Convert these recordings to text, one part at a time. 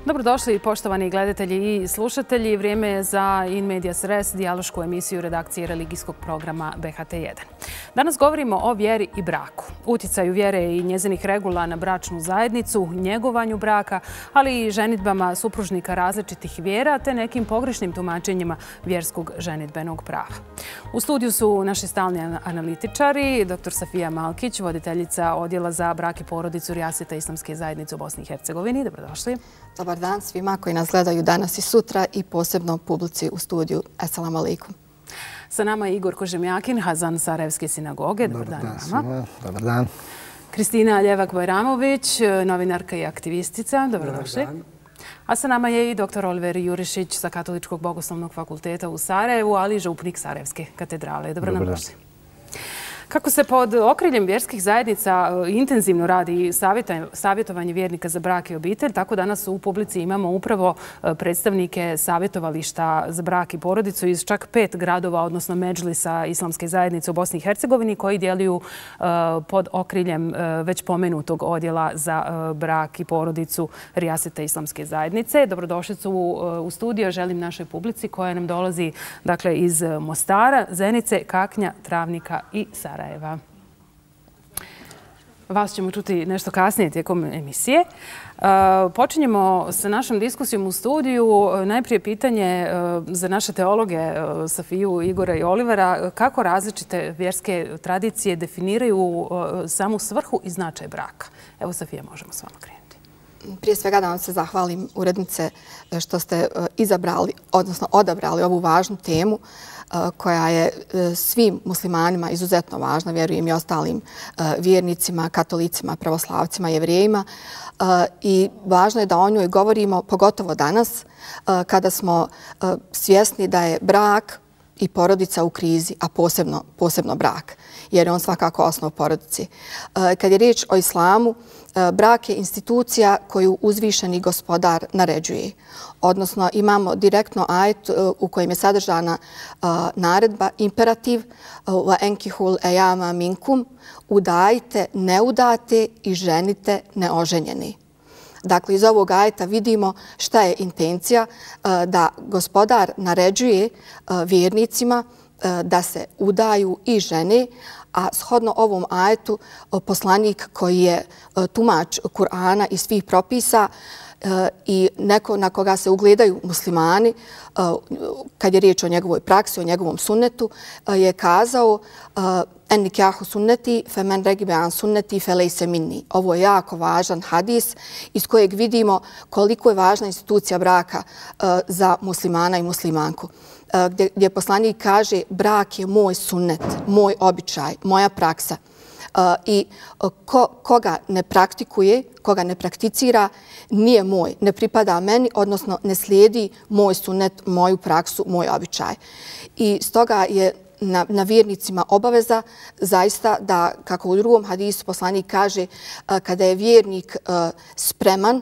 Dobrodošli poštovani gledatelji i slušatelji. Vrijeme je za In Medias Res, dijalošku emisiju redakcije religijskog programa BHT1. Danas govorimo o vjeri i braku, uticaju vjere i njezinih regula na bračnu zajednicu, njegovanju braka, ali i ženidbama supružnika različitih vjera te nekim pogrešnim tumačenjima vjerskog ženidbenog prava. U studiju su naši stalni analitičari, dr. Safija Malkić, voditeljica Odjela za brak i porodicu Rijaseta Islamske zajednice u Bosni i Hercegovini. Dobrodošli. Dobar dan svima koji nas gledaju danas i sutra i posebno publici u studiju. Assalamu alaikum. Sa nama je Igor Kožemjakin, Hazan Sarajevske sinagoge. Dobar dan vama. Dobar dan. Kristina Ljevak-Bajramović, novinarka i aktivistica. Dobrodošli. A sa nama je i dr. Oliver Jurišić sa Katoličkog bogoslovnog fakulteta u Sarajevu, ali i župnik Sarajevske katedrale. Dobro nam došli. Kako se pod okriljem vjerskih zajednica intenzivno radi savjetovanje vjernika za brak i obitelj, tako danas u publici imamo upravo predstavnike savjetovališta za brak i porodicu iz čak 5 gradova, odnosno Medžlisa Islamske zajednice u Bosni i Hercegovini, koji djeluju pod okriljem već pomenutog Odjela za brak i porodicu Rijaseta Islamske zajednice. Dobrodošlicu u studio želim našoj publici koja nam dolazi iz Mostara, Zenice, Kaknja, Travnika i Sarajeva. Vas ćemo čuti nešto kasnije tijekom emisije. Počinjemo sa našom diskusijom u studiju. Najprije pitanje za naše teologe Safiju, Igora i Olivera. Kako različite vjerske tradicije definiraju samu svrhu i značaj braka? Evo, Safija, možemo s vama krenuti. Prije svega da vam se zahvalim, urednice, što ste izabrali, odnosno odabrali ovu važnu temu koja je svim muslimanima izuzetno važna, vjerujem i ostalim vjernicima, katolicima, pravoslavcima, jevrejima. I važno je da o njoj govorimo, pogotovo danas, kada smo svjesni da je brak i porodica u krizi, a posebno brak, jer je on svakako osnov porodici. Kad je riječ o islamu, brak je institucija koju uzvišeni gospodar naređuje. Odnosno, imamo direktno ajet u kojem je sadržana naredba, imperativ وَاَنْكِحُوا الْأَيَامَ مِنْكُمْ, udajte neudate i ženite neoženjeni. Dakle, iz ovog ajeta vidimo šta je intencija da gospodar naređuje vjernicima da se udaju i žene, a shodno ovom ajetu poslanik koji je tumač Kur'ana i svih propisa i neko na koga se ugledaju muslimani, kad je riječ o njegovoj praksi, o njegovom sunnetu, je kazao en nikahu sunneti femen regibe an sunneti felejse minni. Ovo je jako važan hadis iz kojeg vidimo koliko je važna institucija braka za muslimana i muslimanku. Gdje poslanik kaže brak je moj sunnet, moj običaj, moja praksa. I koga ne praktikuje, koga ne prakticira, nije moj, ne pripada meni, odnosno ne slijedi moj sunnet, moju praksu, moj običaj. I stoga je na vjernicima obaveza zaista da, kako u drugom hadisu poslanik kaže, kada je vjernik spreman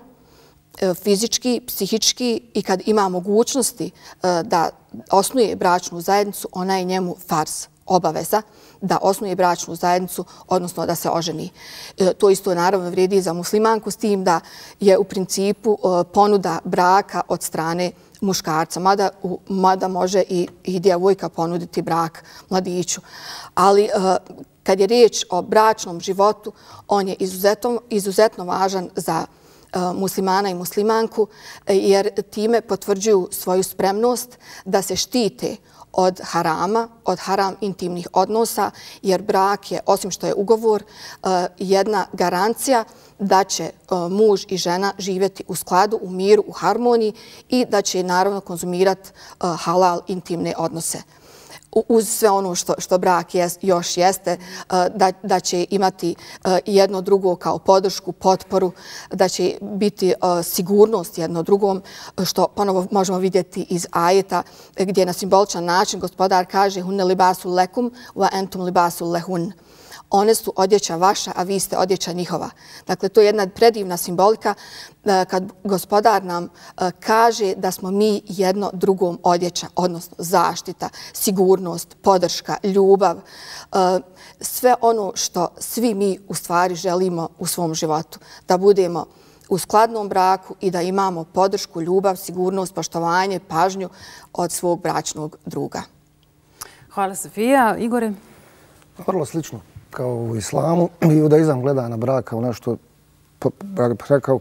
fizički, psihički i kad ima mogućnosti da osnuje bračnu zajednicu, ona je njemu farz, obaveza da osnuje bračnu zajednicu, odnosno da se oženi. To isto naravno vrijedi i za muslimanku, s tim da je u principu ponuda braka od strane muškarca, mada može i djevojka ponuditi brak mladiću. Ali kad je riječ o bračnom životu, on je izuzetno važan za muslimana i muslimanku, jer time potvrđuju svoju spremnost da se štite od harama, od haram intimnih odnosa, jer brak je, osim što je ugovor, jedna garancija da će muž i žena živjeti u skladu, u miru, u harmoniji i da će naravno konzumirati halal intimne odnose. Uz sve ono što brak još jeste, da će imati jedno drugo kao podršku, potporu, da će biti sigurnost jedno drugom, što ponovo možemo vidjeti iz ajeta gdje na simboličan način gospodar kaže hunne libasul lekum wa entum libasul lehun. One su odjeća vaša, a vi ste odjeća njihova. Dakle, to je jedna predivna simbolika kad gospodar nam kaže da smo mi jedno drugom odjeća, odnosno zaštita, sigurnost, podrška, ljubav, sve ono što svi mi u stvari želimo u svom životu. Da budemo u skladnom braku i da imamo podršku, ljubav, sigurnost, poštovanje, pažnju od svog bračnog druga. Hvala, Sofija. Igore? Vrlo slično kao u islamu. Judaizam gleda na brak kao nešto, rekao,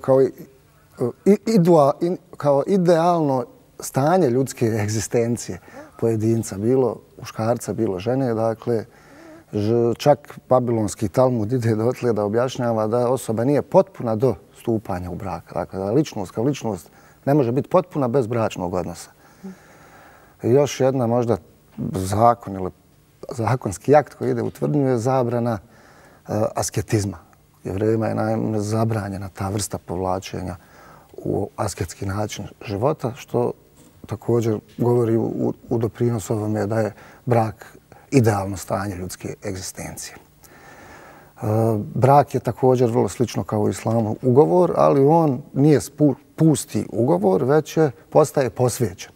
kao idealno stanje ljudske egzistencije pojedinca, bilo muškarca, bilo žene. Dakle, čak babilonski Talmud ide dotle da objašnjava da osoba nije potpuna do stupanja u brak. Dakle, da ličnost kao ličnost ne može biti potpuna bez bračnog odnosa. I još jedna možda zakon ili zakonski akt koji ide u tvrdnju je zabrana asketizma. Jevrejima je naime zabranjena ta vrsta povlačenja u asketski način života, što također govori u doprinos ovome da je brak idealno stanje ljudske egzistencije. Brak je također vrlo slično kao u islamu ugovor, ali on nije pusti ugovor, već postaje posvećen.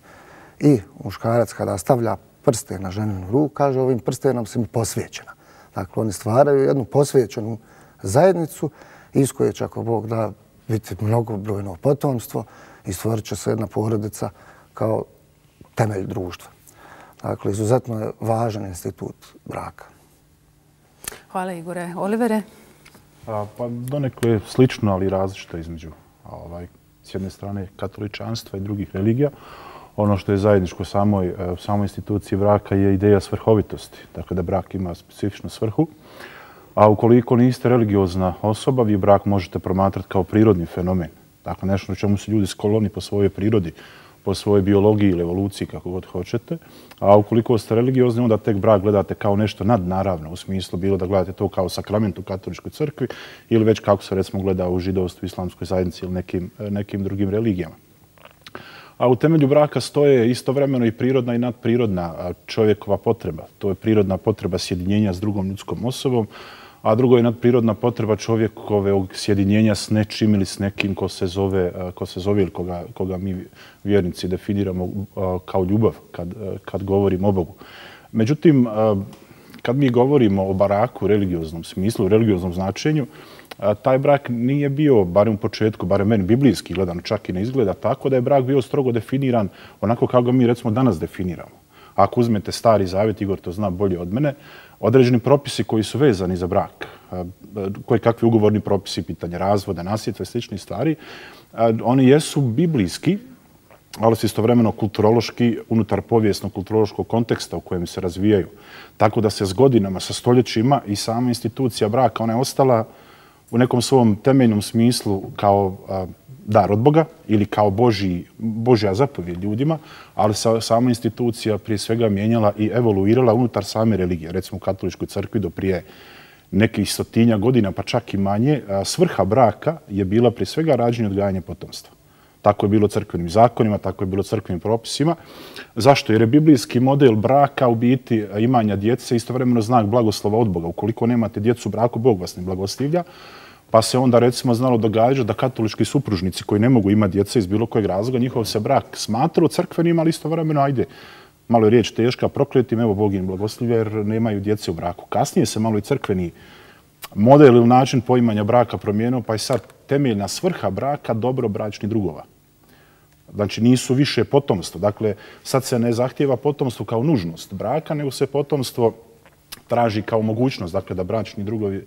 I muškarac kada stavlja prsten na ženinu ruku, kaže ovim prstenom si mi posvećena. Dakle, oni stvaraju jednu posvećenu zajednicu iz koje će, ako Bog da, biti mnogobrojno potomstvo i stvorit će se jedna porodica kao temelj društva. Dakle, izuzetno je važan institut braka. Hvala, Igore. Olivere? Pa donekle je slično, ali različito između s jedne strane katoličanstva i drugih religija. Ono što je zajedničko samoj instituciji braka je ideja svrhovitosti. Dakle, da brak ima specifičnu svrhu. A ukoliko niste religiozna osoba, vi brak možete promatrati kao prirodni fenomen. Dakle, nešto na čemu su ljudi skloni po svojoj prirodi, po svojoj biologiji ili evoluciji, kako god hoćete. A ukoliko ste religiozni, onda tek brak gledate kao nešto nadnaravno, u smislu bilo da gledate to kao sakrament u katoličkoj crkvi ili već kako se recimo gleda u židovstvu, islamskoj zajednici ili nekim drugim religijama. A u temelju braka stoje istovremeno i prirodna i nadprirodna čovjekova potreba. To je prirodna potreba sjedinjenja s drugom ljudskom osobom, a drugo je nadprirodna potreba čovjekovog sjedinjenja s nečim ili s nekim ko se zove ili koga mi vjernici definiramo kao ljubav kad govorimo o Bogu. Međutim, kad mi govorimo o braku u religioznom smislu, u religioznom značenju, taj brak nije bio, barem u početku, barem meni biblijski gledano, čak i ne izgleda tako, da je brak bio strogo definiran onako kako ga mi recimo danas definiramo. Ako uzmete Stari Zavjet, Igor to zna bolje od mene, određeni propisi koji su vezani za brak, koji kakvi ugovorni propisi, pitanje razvoda, nasljedstva i sličnih stvari, oni jesu biblijski, ali su istovremeno kulturološki unutar povijesno-kulturološkog konteksta u kojem se razvijaju. Tako da se s godinama, sa stoljećima i sama institucija braka, ona je ostala u nekom svom temeljnom smislu kao dar od Boga ili kao Božja zapovjed ljudima, ali sama institucija prije svega mijenjala i evoluirala unutar same religije. Recimo u katoličkoj crkvi do prije nekih 100 godina, pa čak i manje, svrha braka je bila prije svega rađenje i odgajanje potomstva. Tako je bilo crkvenim zakonima, tako je bilo crkvenim propisima. Zašto? Jer je biblijski model braka u biti imanja djece istovremeno znak blagoslova od Boga. Ukoliko nemate djecu u braku, Bog vas ne blagoslivlja. Pa se onda recimo znalo događati da katolički supružnici koji ne mogu imati djece iz bilo kojeg razloga, njihov se brak smatra crkvenim, ali istovremeno, ajde, malo je riječ teška, prokletim, evo Bog im blagoslivlja jer nemaju djece u braku. Kasnije se malo i crkveni model ili način poimanja braka promijenio, pa je sad temeljna svrha braka dobro bračnih drugova. Znači nisu više potomstvo. Dakle, sad se ne zahtijeva potomstvo kao nužnost braka, nego se potomstvo traži kao mogućnost, dakle da bračni drugovi,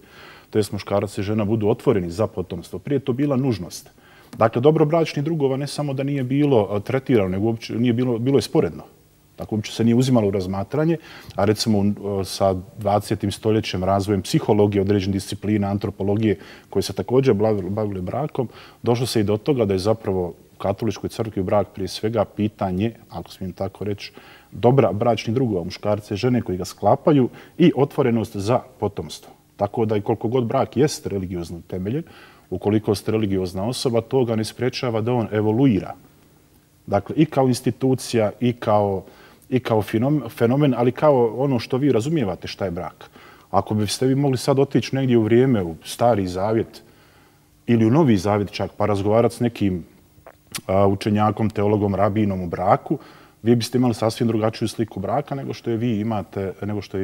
to jest muškarac i žena, budu otvoreni za potomstvo. Prije to bila nužnost. Dakle, dobro bračnih drugova ne samo da nije bilo tretirano, nego uopće nije bilo je sporedno. Dakle, uopće se nije uzimalo u razmatranje, a recimo sa 20. stoljećem razvojem psihologije, određenih disciplina, antropologije, koje se također bavile brakom, došlo se i do toga da je zapravo u katoličkoj crkvi brak prije svega pitanje, ako smijem tako reći, dobra bračnih drugova, muškarce i žene koji ga sklapaju i otvorenost za potomstvo. Tako da i koliko god brak jest religiozno temeljen, ukoliko ste religiozna osoba, to ga ne sprečava da on evoluira. Dakle, i kao institucija, i kao fenomen, ali kao ono što vi razumijevate šta je brak. Ako biste vi mogli sad otići negdje u vrijeme, u Stari Zavjet ili u Novi Zavjet čak, pa razgovarati s nekim učenjakom, teologom, rabinom u braku, vi biste imali sasvim drugačiju sliku braka nego što je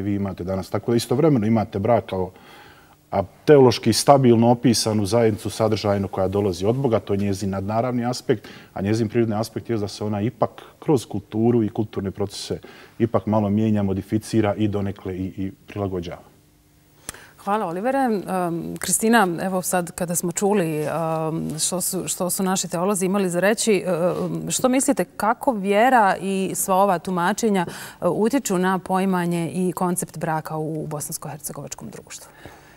vi imate danas. Tako da istovremeno imate brak kao teološki stabilno opisanu zajednicu sadržajno koja dolazi od Boga, to je njezin nadnaravni aspekt, a njezin prirodni aspekt je da se ona ipak kroz kulturu i kulturne procese ipak malo mijenja, modificira i donekle i prilagođava. Hvala, Olivere. Kristina, evo sad kada smo čuli što su naši teolozi imali za reći, što mislite kako vjera i sva ova tumačenja utječu na poimanje i koncept braka u bosansko-hercegovačkom društvu?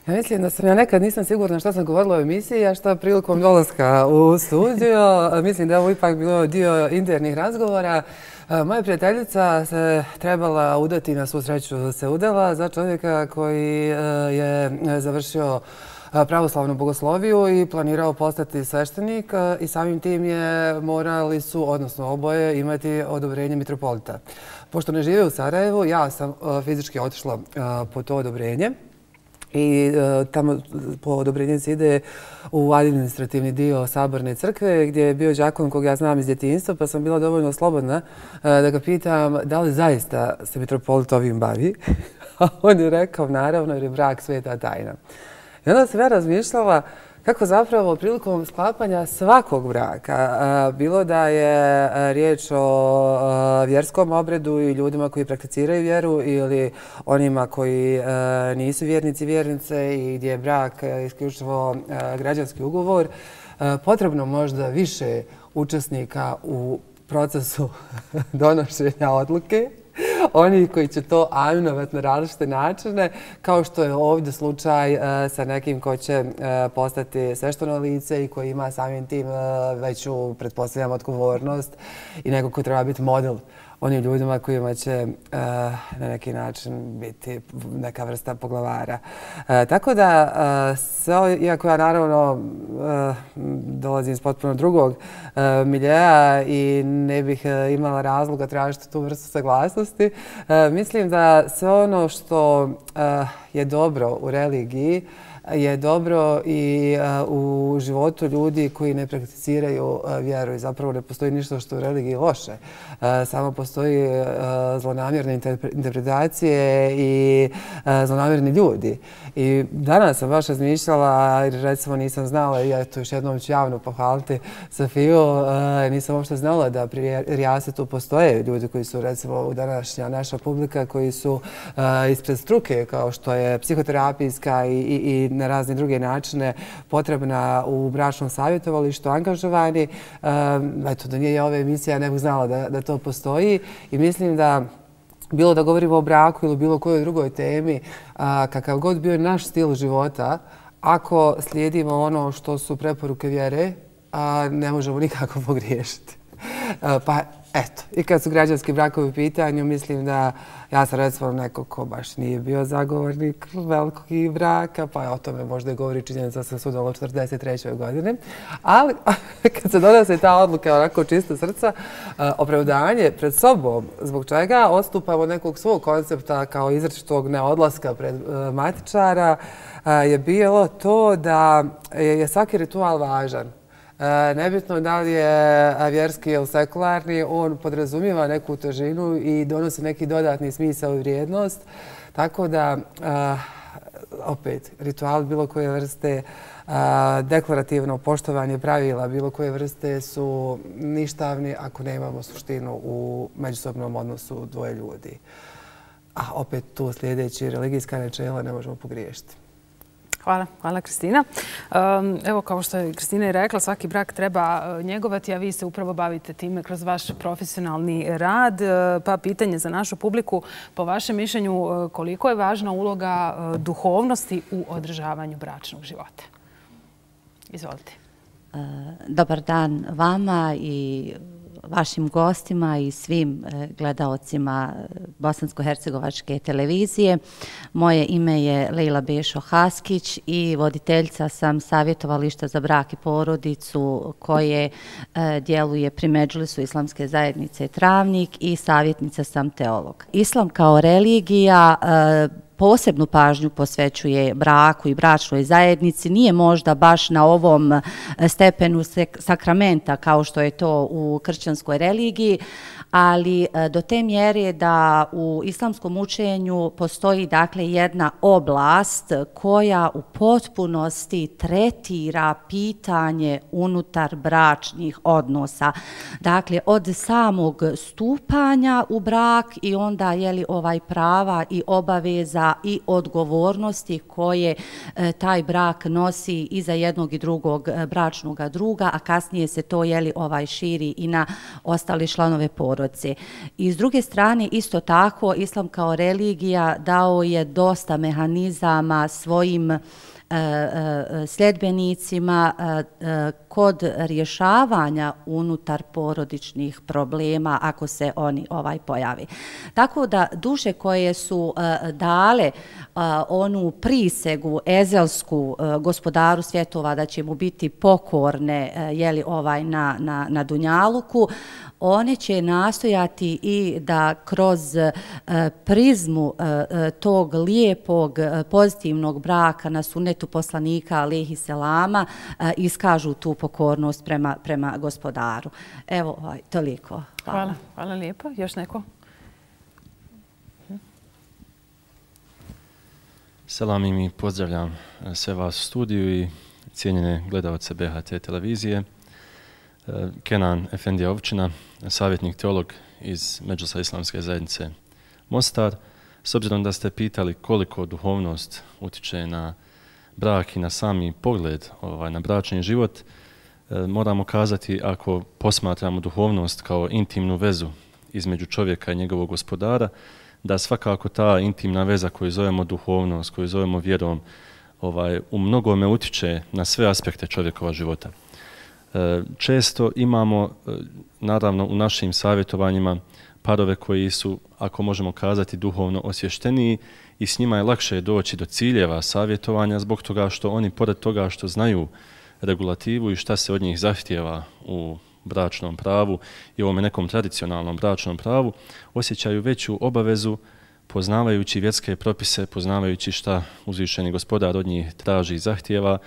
Ja mislim da sam nekad nisam sigurna šta sam govorila o emisiji, a šta prilikom dolaska u studio. Mislim da je ovo ipak bilo dio internih razgovora. Moja prijateljica se trebala udati, na svu sreću se udala, za čovjeka koji je završio pravoslavnu bogosloviju i planirao postati sveštenik i samim tim morali su, odnosno oboje, imati odobrenje mitropolita. Pošto ne žive u Sarajevu, ja sam fizički otišla po to odobrenje. I tamo po odobrenju se ide u administrativni dio Saborne crkve gdje je bio đakon kog ja znam iz djetinjstva, pa sam bila dovoljno slobodna da ga pitam da li zaista se mitropolit ovim bavi. A on je rekao naravno jer je brak sveta tajna. I onda sam ja razmišljala kako zapravo prilikom sklapanja svakog braka, bilo da je riječ o vjerskom obredu i ljudima koji prakticiraju vjeru ili onima koji nisu vjernici, vjernice i gdje je brak isključivo građanski ugovor, potrebno možda više učesnika u procesu donošenja odluke. Oni koji će to aminovati na različite načine, kao što je ovdje slučaj sa nekim ko će postati svešteno lice i koji ima samim tim veću, pretpostavljam, odgovornost i neko ko treba biti model onim ljudima kojima će na neki način biti neka vrsta poglavara. Tako da, iako ja naravno dolazim iz potpuno drugog miljeja i ne bih imala razloga tražiti tu vrstu saglasnosti, mislim da sve ono što je dobro u religiji je dobro i u životu ljudi koji ne prakticiraju vjeru i zapravo ne postoji ništa što u religiji loše. Samo postoji zlonamjerne interpretacije i zlonamjerni ljudi. I danas sam baš razmišljala, jer recimo nisam znala, i ja to još jednom ću javno pohvaliti Sofiju, nisam uopšte znala da pri Rijasetu postoje ljudi koji su recimo u današnja naša publika, koji su ispred struke, kao što je psihoterapijska i na razne druge načine potrebna u bračnom savjetovalištu, angažovani. Eto, da nije ove emisije, ja ne bih znala da to postoji i mislim da bilo da govorimo o braku ili bilo kojoj drugoj temi, kakav god bio naš stil života, ako slijedimo ono što su preporuke vjere, ne možemo nikako pogriješiti. Pa eto, i kad su građanski brakovi u pitanju, mislim da ja sam recimo neko ko baš nije bio zagovornik velikog braka, pa o tome možda govori činjenica da sam sudala u 43. godini. Ali kad se donose ta odluka onako čisto srca, opravdanje pred sobom, zbog čega odstupamo od nekog svog koncepta kao izričitog neodlaska pred matičara, je bilo to da je svaki ritual važan. Nebitno da li je vjerski ili sekularni, on podrazumijeva neku težinu i donosi neki dodatni smisao i vrijednost. Tako da, opet, ritual bilo koje vrste, deklarativno poštovanje pravila bilo koje vrste su ništavni ako nemamo suštinu u međusobnom odnosu dvoje ljudi. A opet tu sljedeći religijska načela ne možemo pogriješiti. Hvala Kristina. Evo, kao što je Kristina i rekla, svaki brak treba njegovati, a vi se upravo bavite time kroz vaš profesionalni rad. Pa pitanje za našu publiku, po vašem mišljenju, koliko je važna uloga duhovnosti u održavanju bračnog života? Izvolite. Dobar dan vama i vašim gostima i svim gledaocima Bosansko-hercegovačke televizije. Moje ime je Lejla Bešo Haskić i voditeljica sam savjetovališta za brak i porodicu koje djeluje pri Medžlisu Islamske zajednice Travnik i savjetnica sam teolog. Islam kao religija posebnu pažnju posvećuje braku i bračnoj zajednici. Nije možda baš na ovom stepenu sakramenta kao što je to u kršćanskoj religiji, ali do te mjere da u islamskom učenju postoji dakle jedna oblast koja u potpunosti tretira pitanje unutar bračnih odnosa. Dakle, od samog stupanja u brak i onda prava i obaveza i odgovornosti koje taj brak nosi i za jednog i drugog bračnog druga, a kasnije se to širi i na ostale članove porodice. I s druge strane, isto tako, islam kao religija dao je dosta mehanizama svojim sljedbenicima kod rješavanja unutar porodičnih problema ako se oni pojavi. Tako da duše koje su dale onu prisegu ezelsku gospodaru svjetova da će mu biti pokorne na dunjaluku, one će nastojati i da kroz prizmu tog lijepog pozitivnog braka na sunnetu poslanika alejhi selama iskažu tu pokornost prema gospodaru. Evo, toliko. Hvala. Hvala lijepo. Još neko? Selam i mi pozdravljam sve vas u studiju i cijenjene gledalce BHT televizije. Kenan Efendija Ovčina, savjetnik teolog iz Medžlisa Islamske zajednice Mostar. S obzirom da ste pitali koliko duhovnost utiče na brak i na sami pogled na bračni život, moramo kazati, ako posmatramo duhovnost kao intimnu vezu između čovjeka i njegovog gospodara, da svakako ta intimna veza koju zovemo duhovnost, koju zovemo vjerom, u mnogome utiče na sve aspekte čovjekova života. Često imamo, naravno, u našim savjetovanjima parove koji su, ako možemo kazati, duhovno osvješteniji i s njima je lakše doći do ciljeva savjetovanja zbog toga što oni, pored toga što znaju regulativu i šta se od njih zahtijeva u bračnom pravu i ovome nekom tradicionalnom bračnom pravu, osjećaju veću obavezu poznavajući vjerske propise, poznavajući šta uzvišeni gospodar od njih traži i zahtijeva,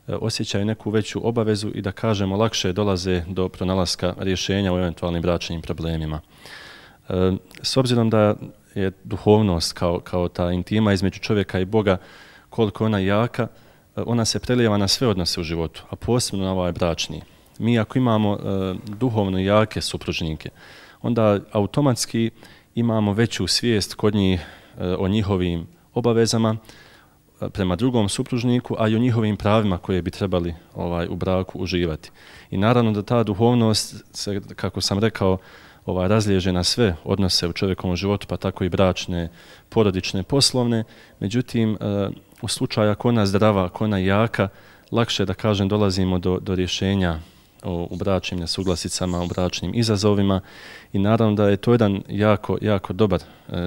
osjećaju neku veću obavezu i da kažemo lakše dolaze do pronalaska rješenja u eventualnim bračnim problemima. S obzirom da je duhovnost kao ta intima između čovjeka i Boga, koliko ona jaka, ona se prelijeva na sve odnose u životu, a posebno na ovaj bračni. Mi ako imamo duhovno jake supružnike, onda automatski imamo veću svijest kod njih o njihovim obavezama prema drugom supružniku, a i o njihovim pravima koje bi trebali u braku uživati. I naravno da ta duhovnost se, kako sam rekao, razliježe na sve odnose u čovjekovom životu, pa tako i bračne, porodične, poslovne. Međutim, u slučaju ako ona zdrava, ako ona jaka, lakše, da kažem, dolazimo do rješenja u bračnim nesuglasicama, u bračnim izazovima i naravno da je to jedan jako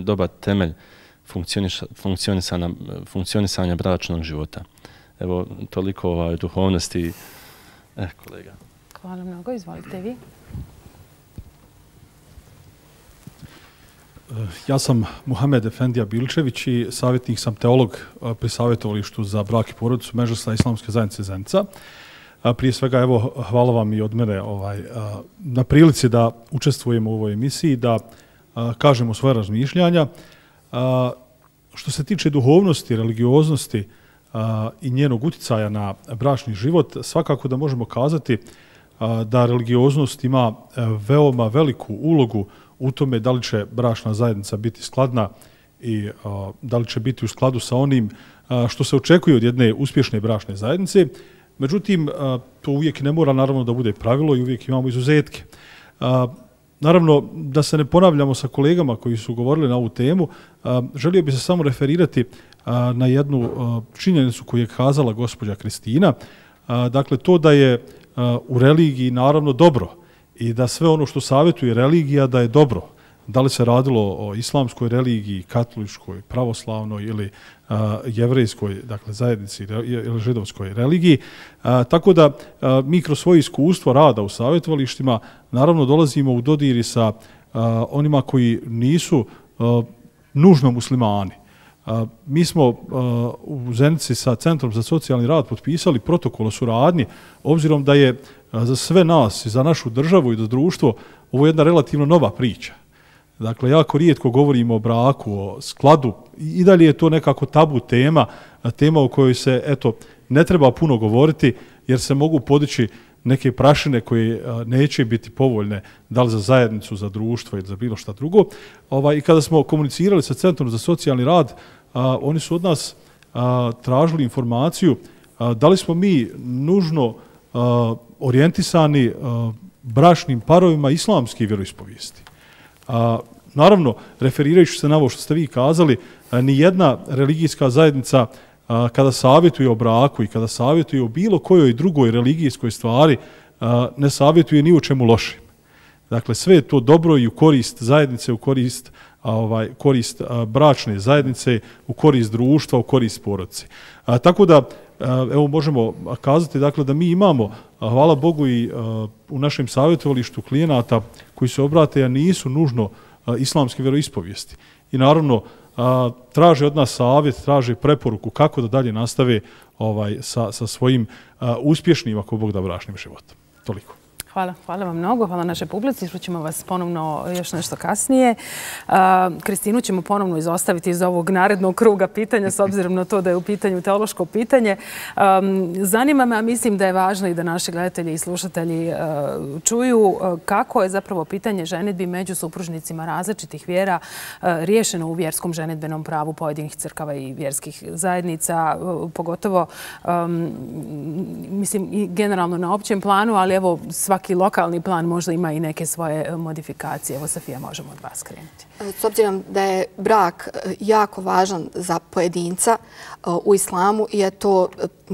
dobar temelj funkcionisanja bračnog života. Evo, toliko o duhovnosti. Kolega. Hvala mnogo. Izvolite vi. Ja sam Muhamed Efendija Bilčević i savjetnik sam teolog pri savjetovalištu za brak i porodicu Medžlisa Islamske zajednice Zenica. Prije svega, evo, hvala vam i od mene na prilici da učestvujemo u ovoj emisiji, da kažemo svoje razmišljanja. Što se tiče duhovnosti, religioznosti i njenog uticaja na bračni život, svakako da možemo kazati da religioznost ima veoma veliku ulogu u tome da li će bračna zajednica biti skladna i da li će biti u skladu sa onim što se očekuje od jedne uspješne bračne zajednice. Međutim, to uvijek ne mora naravno da bude pravilo i uvijek imamo izuzetke. Naravno, da se ne ponavljamo sa kolegama koji su govorili na ovu temu, želio bi se samo referirati na jednu činjenicu koju je kazala gospođa Kristina. Dakle, to da je u religiji naravno dobro i da sve ono što savjetuje religija da je dobro. Da li se radilo o islamskoj religiji, katoličkoj, pravoslavnoj ili jevrejskoj, dakle zajednici ili židovskoj religiji. Tako da mi kroz svoje iskustvo rada u savjetovalištima naravno dolazimo u dodiri sa onima koji nisu nužno muslimani. Mi smo u Zenici sa Centrom za socijalni rad potpisali protokol o suradnji, obzirom da je za sve nas i za našu državu i za društvo ovo jedna relativno nova priča. Dakle, jako rijetko govorimo o braku, o skladu. I dalje je to nekako tabu tema, tema o kojoj se, eto, ne treba puno govoriti, jer se mogu podići neke prašine koje neće biti povoljne, da li za zajednicu, za društvo ili za bilo šta drugo. I kada smo komunicirali sa Centrom za socijalni rad, oni su od nas tražili informaciju da li smo mi nužno orijentisani bračnim parovima islamske vjeroispovijesti. Naravno, referirajući se na ovo što ste vi kazali, ni jedna religijska zajednica kada savjetuje o braku i kada savjetuje o bilo kojoj drugoj religijskoj stvari, ne savjetuje ni u čemu lošim. Dakle, sve je to dobro i u korist zajednice, u korist bračne zajednice, u korist društva, u korist porodice. Tako da, evo možemo kazati dakle, da mi imamo, hvala Bogu, i u našem savjetovalištu klijenata koji se obrate, a nisu nužno islamske vjeroispovijesti. I naravno, traže od nas savjet, traže preporuku kako da dalje nastave sa svojim uspješnim, ako Bog da, bračnim životom. Toliko. Hvala vam mnogo, hvala našoj publici. Čućemo vas ponovno još nešto kasnije. Kristinu ćemo ponovno izostaviti iz ovog narednog kruga pitanja, s obzirom na to da je u pitanju teološko pitanje. Zanima me, a mislim da je važno i da naši gledatelji i slušatelji čuju kako je zapravo pitanje ženidbi među supružnicima različitih vjera riješeno u vjerskom ženidbenom pravu pojedinih crkava i vjerskih zajednica, pogotovo mislim i generalno na općem planu, ali evo svaki lokalni plan možda ima i neke svoje modifikacije. Evo, Safija, možemo od vas krenuti. S obzirom da je brak jako važan za pojedinca u islamu i je to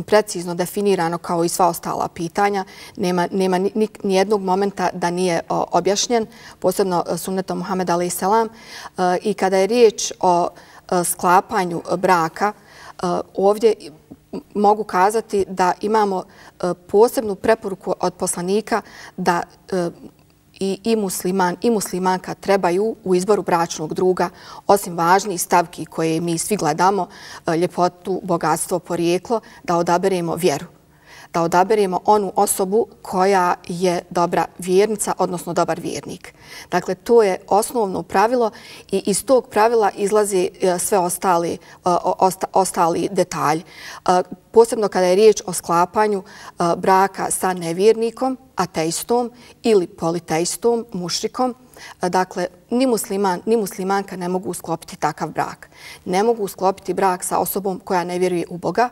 precizno definirano kao i sva ostala pitanja, nema nijednog momenta da nije objašnjen, posebno sunnetom Muhameda alejhi selam. I kada je riječ o sklapanju braka, ovdje mogu kazati da imamo posebnu preporuku od poslanika da i musliman i muslimanka trebaju u izboru bračnog druga, osim važnih stavki koje mi svi gledamo, ljepotu, bogatstvo, porijeklo, da odaberemo vjeru. Da odaberemo onu osobu koja je dobra vjernica, odnosno dobar vjernik. Dakle, to je osnovno pravilo i iz tog pravila izlazi sve ostali detalji. Posebno kada je riječ o sklapanju braka sa nevjernikom, ateistom ili politeistom, mušrikom, dakle, ni musliman, ni muslimanka ne mogu sklopiti takav brak. Ne mogu sklopiti brak sa osobom koja ne vjeruje u Boga,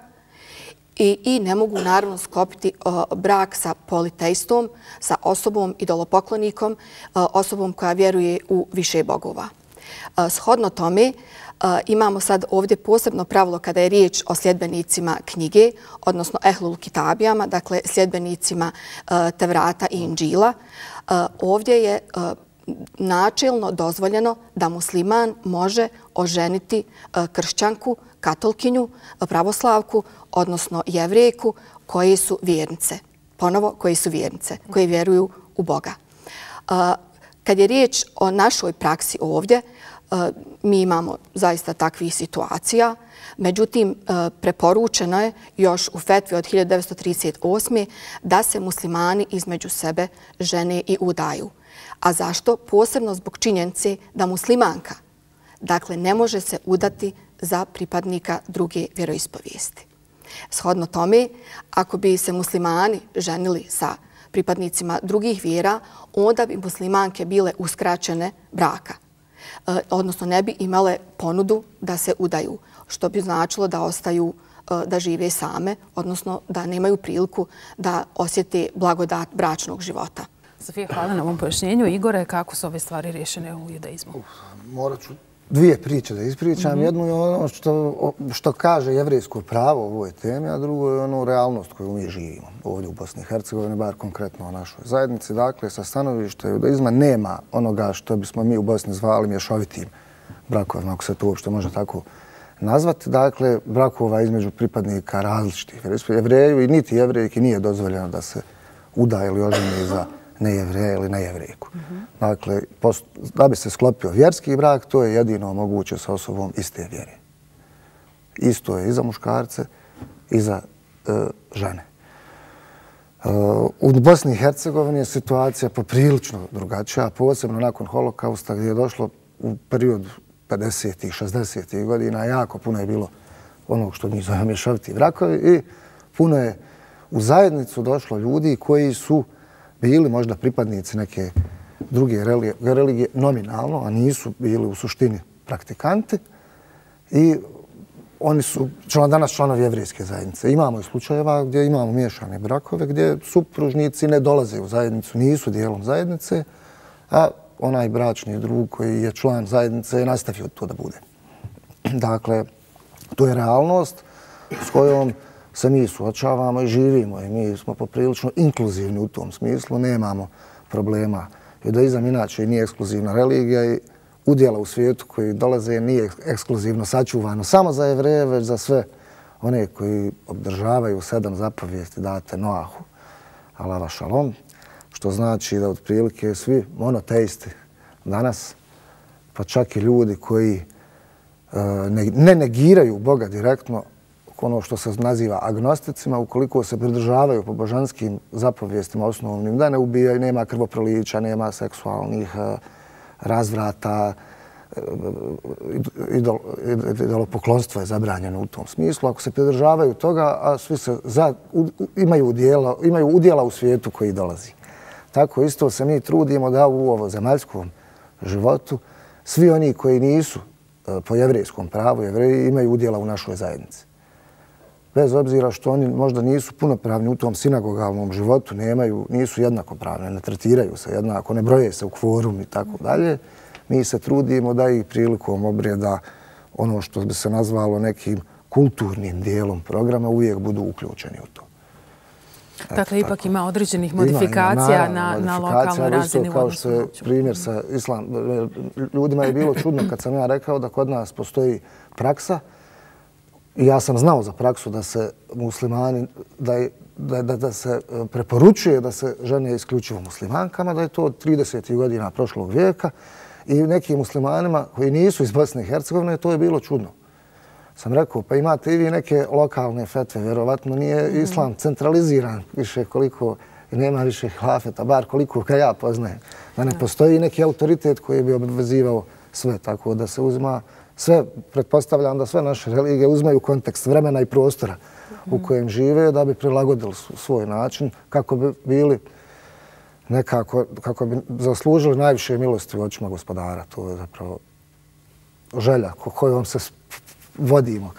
i ne mogu naravno sklopiti brak sa politeistom, sa osobom idolopoklonikom, osobom koja vjeruje u više bogova. Shodno tome, imamo sad ovdje posebno pravilo kada je riječ o sljedbenicima knjige, odnosno ehlul kitabijama, dakle sljedbenicima Tevrata i Inđila. Ovdje je načelno dozvoljeno da musliman može oženiti kršćanku, katolkinju, pravoslavku, odnosno jevrejku, koji su vjernice. Ponovo, koji su vjernice, koji vjeruju u Boga. Kad je riječ o našoj praksi ovdje, mi imamo zaista takvih situacija. Međutim, preporučeno je još u fetvi od 1938. da se muslimani između sebe žene i udaju. A zašto? Posebno zbog činjenice da muslimanka, dakle, ne može se udati za pripadnika druge vjeroispovijesti. Shodno tome, ako bi se muslimani ženili sa pripadnicima drugih vjera, onda bi muslimanke bile uskraćene braka. Odnosno, ne bi imale ponudu da se udaju, što bi značilo da ostaju, da žive same, odnosno da nemaju priliku da osjete blagodat bračnog života. Sofija, hvala na ovom pojašnjenju. Igore, kako su ove stvari rješene u judaizmu? Morat ću dvije priče da ispričam. Jednu je ono što kaže jevrejsko pravo o ovoj temi, a drugo je ono realnost koju mi živimo ovdje u Bosni i Hercegovini, bar konkretno o našoj zajednici. Dakle, sa stanovišta judaizma nema onoga što bismo mi u Bosni zvali mješovitim brakovima, ako se to uopšte može tako nazvati. Dakle, brakova između pripadnika različitih jevreju i niti jevrejki nije dozvoljeno da se uda ili oženi za nejevreja ili nejevrejku. Dakle, da bi se sklopio vjerski brak, to je jedino moguće sa osobom iste vjere. Isto je i za muškarce i za žene. U Bosni i Hercegovini je situacija poprilično drugačija, posebno nakon holokausta gdje je došlo u periodu 50-ih, 60-ih godina, jako puno je bilo onog što mi zovemo mješoviti brakovi i puno je u zajednicu došlo ljudi koji su bili možda pripadnici neke druge religije nominalno, a nisu bili u suštini praktikanti i oni su danas članovi jevrijske zajednice. Imamo i slučajeva gdje imamo miješane brakove, gdje supružnici ne dolaze u zajednicu, nisu dijelom zajednice, a onaj bračni drug koji je član zajednice je nastavio to da bude. Dakle, to je realnost s kojom se mi suočavamo i živimo i mi smo poprilično inkluzivni u tom smislu, nemamo problema. Judaizam inače nije ekskluzivna religija i udjela u svijetu koji dolaze nije ekskluzivno sačuvano samo za Jevreje, već za sve one koji obdržavaju 7 zapovijesti date Noahu, alava šalom, što znači da otprilike svi monoteisti danas, pa čak i ljudi koji ne negiraju Boga direktno, ono što se naziva agnosticima, ukoliko se pridržavaju po božanskim zapovijestima osnovnim, da ne ubijaju, nema krvoprolića, nema seksualnih razvrata, idolopoklonstvo je zabranjeno u tom smislu. Ako se pridržavaju toga, a svi se imaju udjela u svijetu koji dolazi. Tako isto se mi trudimo da u ovo zemaljskom životu svi oni koji nisu po jevrijskom pravu, jevreji imaju udjela u našoj zajednici. Bez obzira što oni možda nisu punopravni u tom sinagogalnom životu, nisu jednakopravni, ne tretiraju se jednako, ne broje se u kvorum i tako dalje. Mi se trudimo da i prilikom obrijeda ono što bi se nazvalo nekim kulturnim dijelom programa uvijek budu uključeni u to. Dakle, ipak ima određenih modifikacija na lokalnoj razini. Kao što je primjer sa islamom. Ljudima je bilo čudno kad sam ja rekao da kod nas postoji praksa. I ja sam znao za praksu da se muslimani, da se preporučuje da se žene isključivo muslimankama, da je to od 30. godina prošlog vijeka i nekim muslimanima koji nisu iz Bosne i Hercegovine, to je bilo čudno. Sam rekao, pa imate i vi neke lokalne fetve, vjerovatno nije islam centraliziran više koliko i nema više hilafeta, bar koliko ga ja poznajem. Da ne postoji neki autoritet koji bi obvezivao sve, tako da se uzima sve, pretpostavljam da sve naše religije uzmaju kontekst vremena i prostora u kojem žive da bi prilagodili svoj način kako bi bili nekako, kako bi zaslužili najviše milosti u očima gospodara. To je zapravo želja kojom se vodimo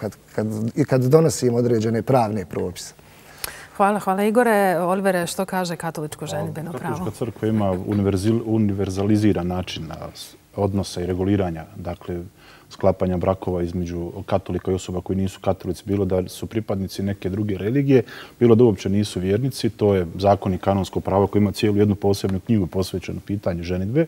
kad donosimo određene pravne propise. Hvala Igore. Olivere, što kaže katoličko ženidbeno pravo? Katolička crkva ima univerzaliziran način odnosa i reguliranja, dakle, sklapanja brakova između katolika i osoba koji nisu katolici, bilo da su pripadnici neke druge religije, bilo da uopće nisu vjernici. To je zakon i kanonsko pravo koji ima cijelu jednu posebnu knjigu posvećenu pitanju ženidbe.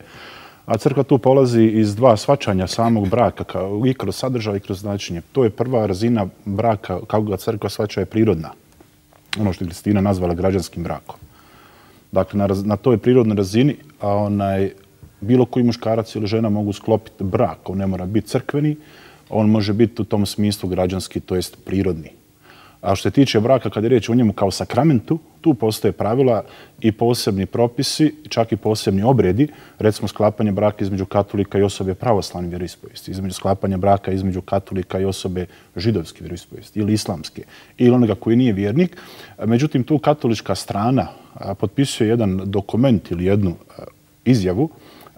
A crkva tu polazi iz dva shvaćanja samog braka, i kroz sadržaj i kroz značenje. To je prva razina braka, kako ga crkva shvaća, je prirodna. Ono što je Kristina nazvala građanskim brakom. Dakle, na toj prirodnoj razini bilo koji muškarac ili žena mogu sklopiti brak. On ne mora biti crkveni, on može biti u tom smislu građanski, to jest prirodni. A što se tiče braka, kada je riječ o njemu kao sakramentu, tu postoje pravila i posebni propisi, čak i posebni obredi, recimo sklapanje braka između katolika i osobe pravoslavne vjeroispovijesti, između sklapanja braka između katolika i osobe židovske vjeroispovijesti ili islamske, ili onoga koji nije vjernik. Međutim, tu katolička strana potpisuje jedan dokument ili jednu izjavu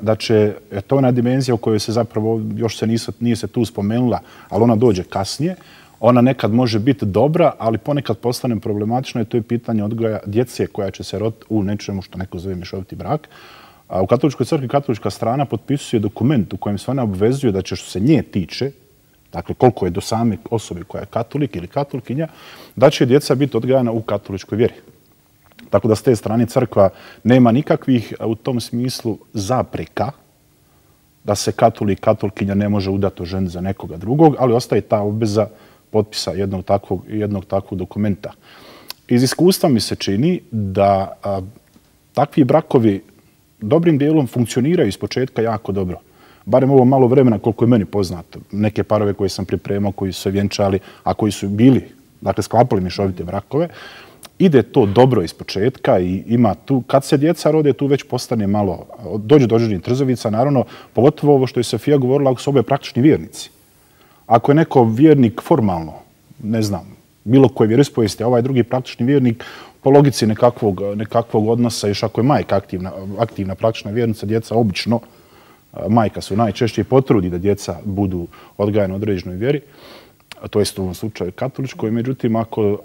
da će, to je ona dimenzija u kojoj se zapravo, još se nije se tu spomenula, ali ona dođe kasnije. Ona nekad može biti dobra, ali ponekad postane problematično i to je pitanje odgoja djece koja će se roditi u nečemu što neko zove mješoviti brak. A u katoličkoj crkvi katolička strana potpisuje dokument u kojem se ona obvezuje da će, što se nje tiče, dakle koliko je do same osobe koja je katolik ili katolikinja, da će djeca biti odgajana u katoličkoj vjeri. Tako da s te strane crkva nema nikakvih u tom smislu zapreka da se katolik, katolikinja ne može udati ženi za nekoga drugog, ali ostaje ta obveza potpisa jednog takvog dokumenta. Iz iskustva mi se čini da takvi brakovi dobrim dijelom funkcioniraju iz početka jako dobro. barem ovo malo vremena koliko je meni poznato, neke parove koje sam pripremao, koji su se vjenčali, a koji su bili, dakle, sklapali mješovite brakove, ide to dobro iz početka i ima tu, kad se djeca rode, tu već postane malo, dođe do određenih trzavica, naravno, pogotovo ovo što je Sofija govorila, ako su oboje praktični vjernici. Ako je neko vjernik formalno, ne znam, bilo koje vjeroispovijesti, a ovaj drugi praktični vjernik, po logici nekakvog odnosa, još ako je majka aktivna praktična vjernica, djeca obično, majka su najčešće potrudi da djeca budu odgajane u određenoj vjeri, to jest u ovom slučaju katoličkoj. Međutim,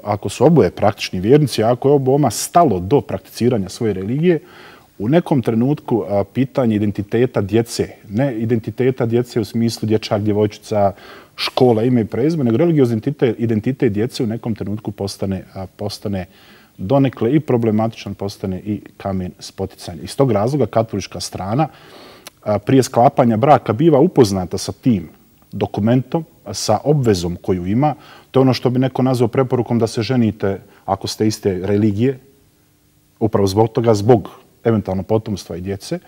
ako su oboje praktični vjernici, ako je oboma stalo do prakticiranja svoje religije, u nekom trenutku pitanje identiteta djece, ne identiteta djece u smislu dječak, djevojčica, škola, ime i prezime, nego religiozni identitet djece u nekom trenutku postane donekle i problematičan, postane i kamen spoticanja. Iz tog razloga katolička strana prije sklapanja braka biva upoznata sa tim dokumentom, sa obvezom koju ima. To je ono što bi neko nazvao preporukom da se ženite ako ste iste religije, upravo zbog toga, zbog eventualno potomstva i djece.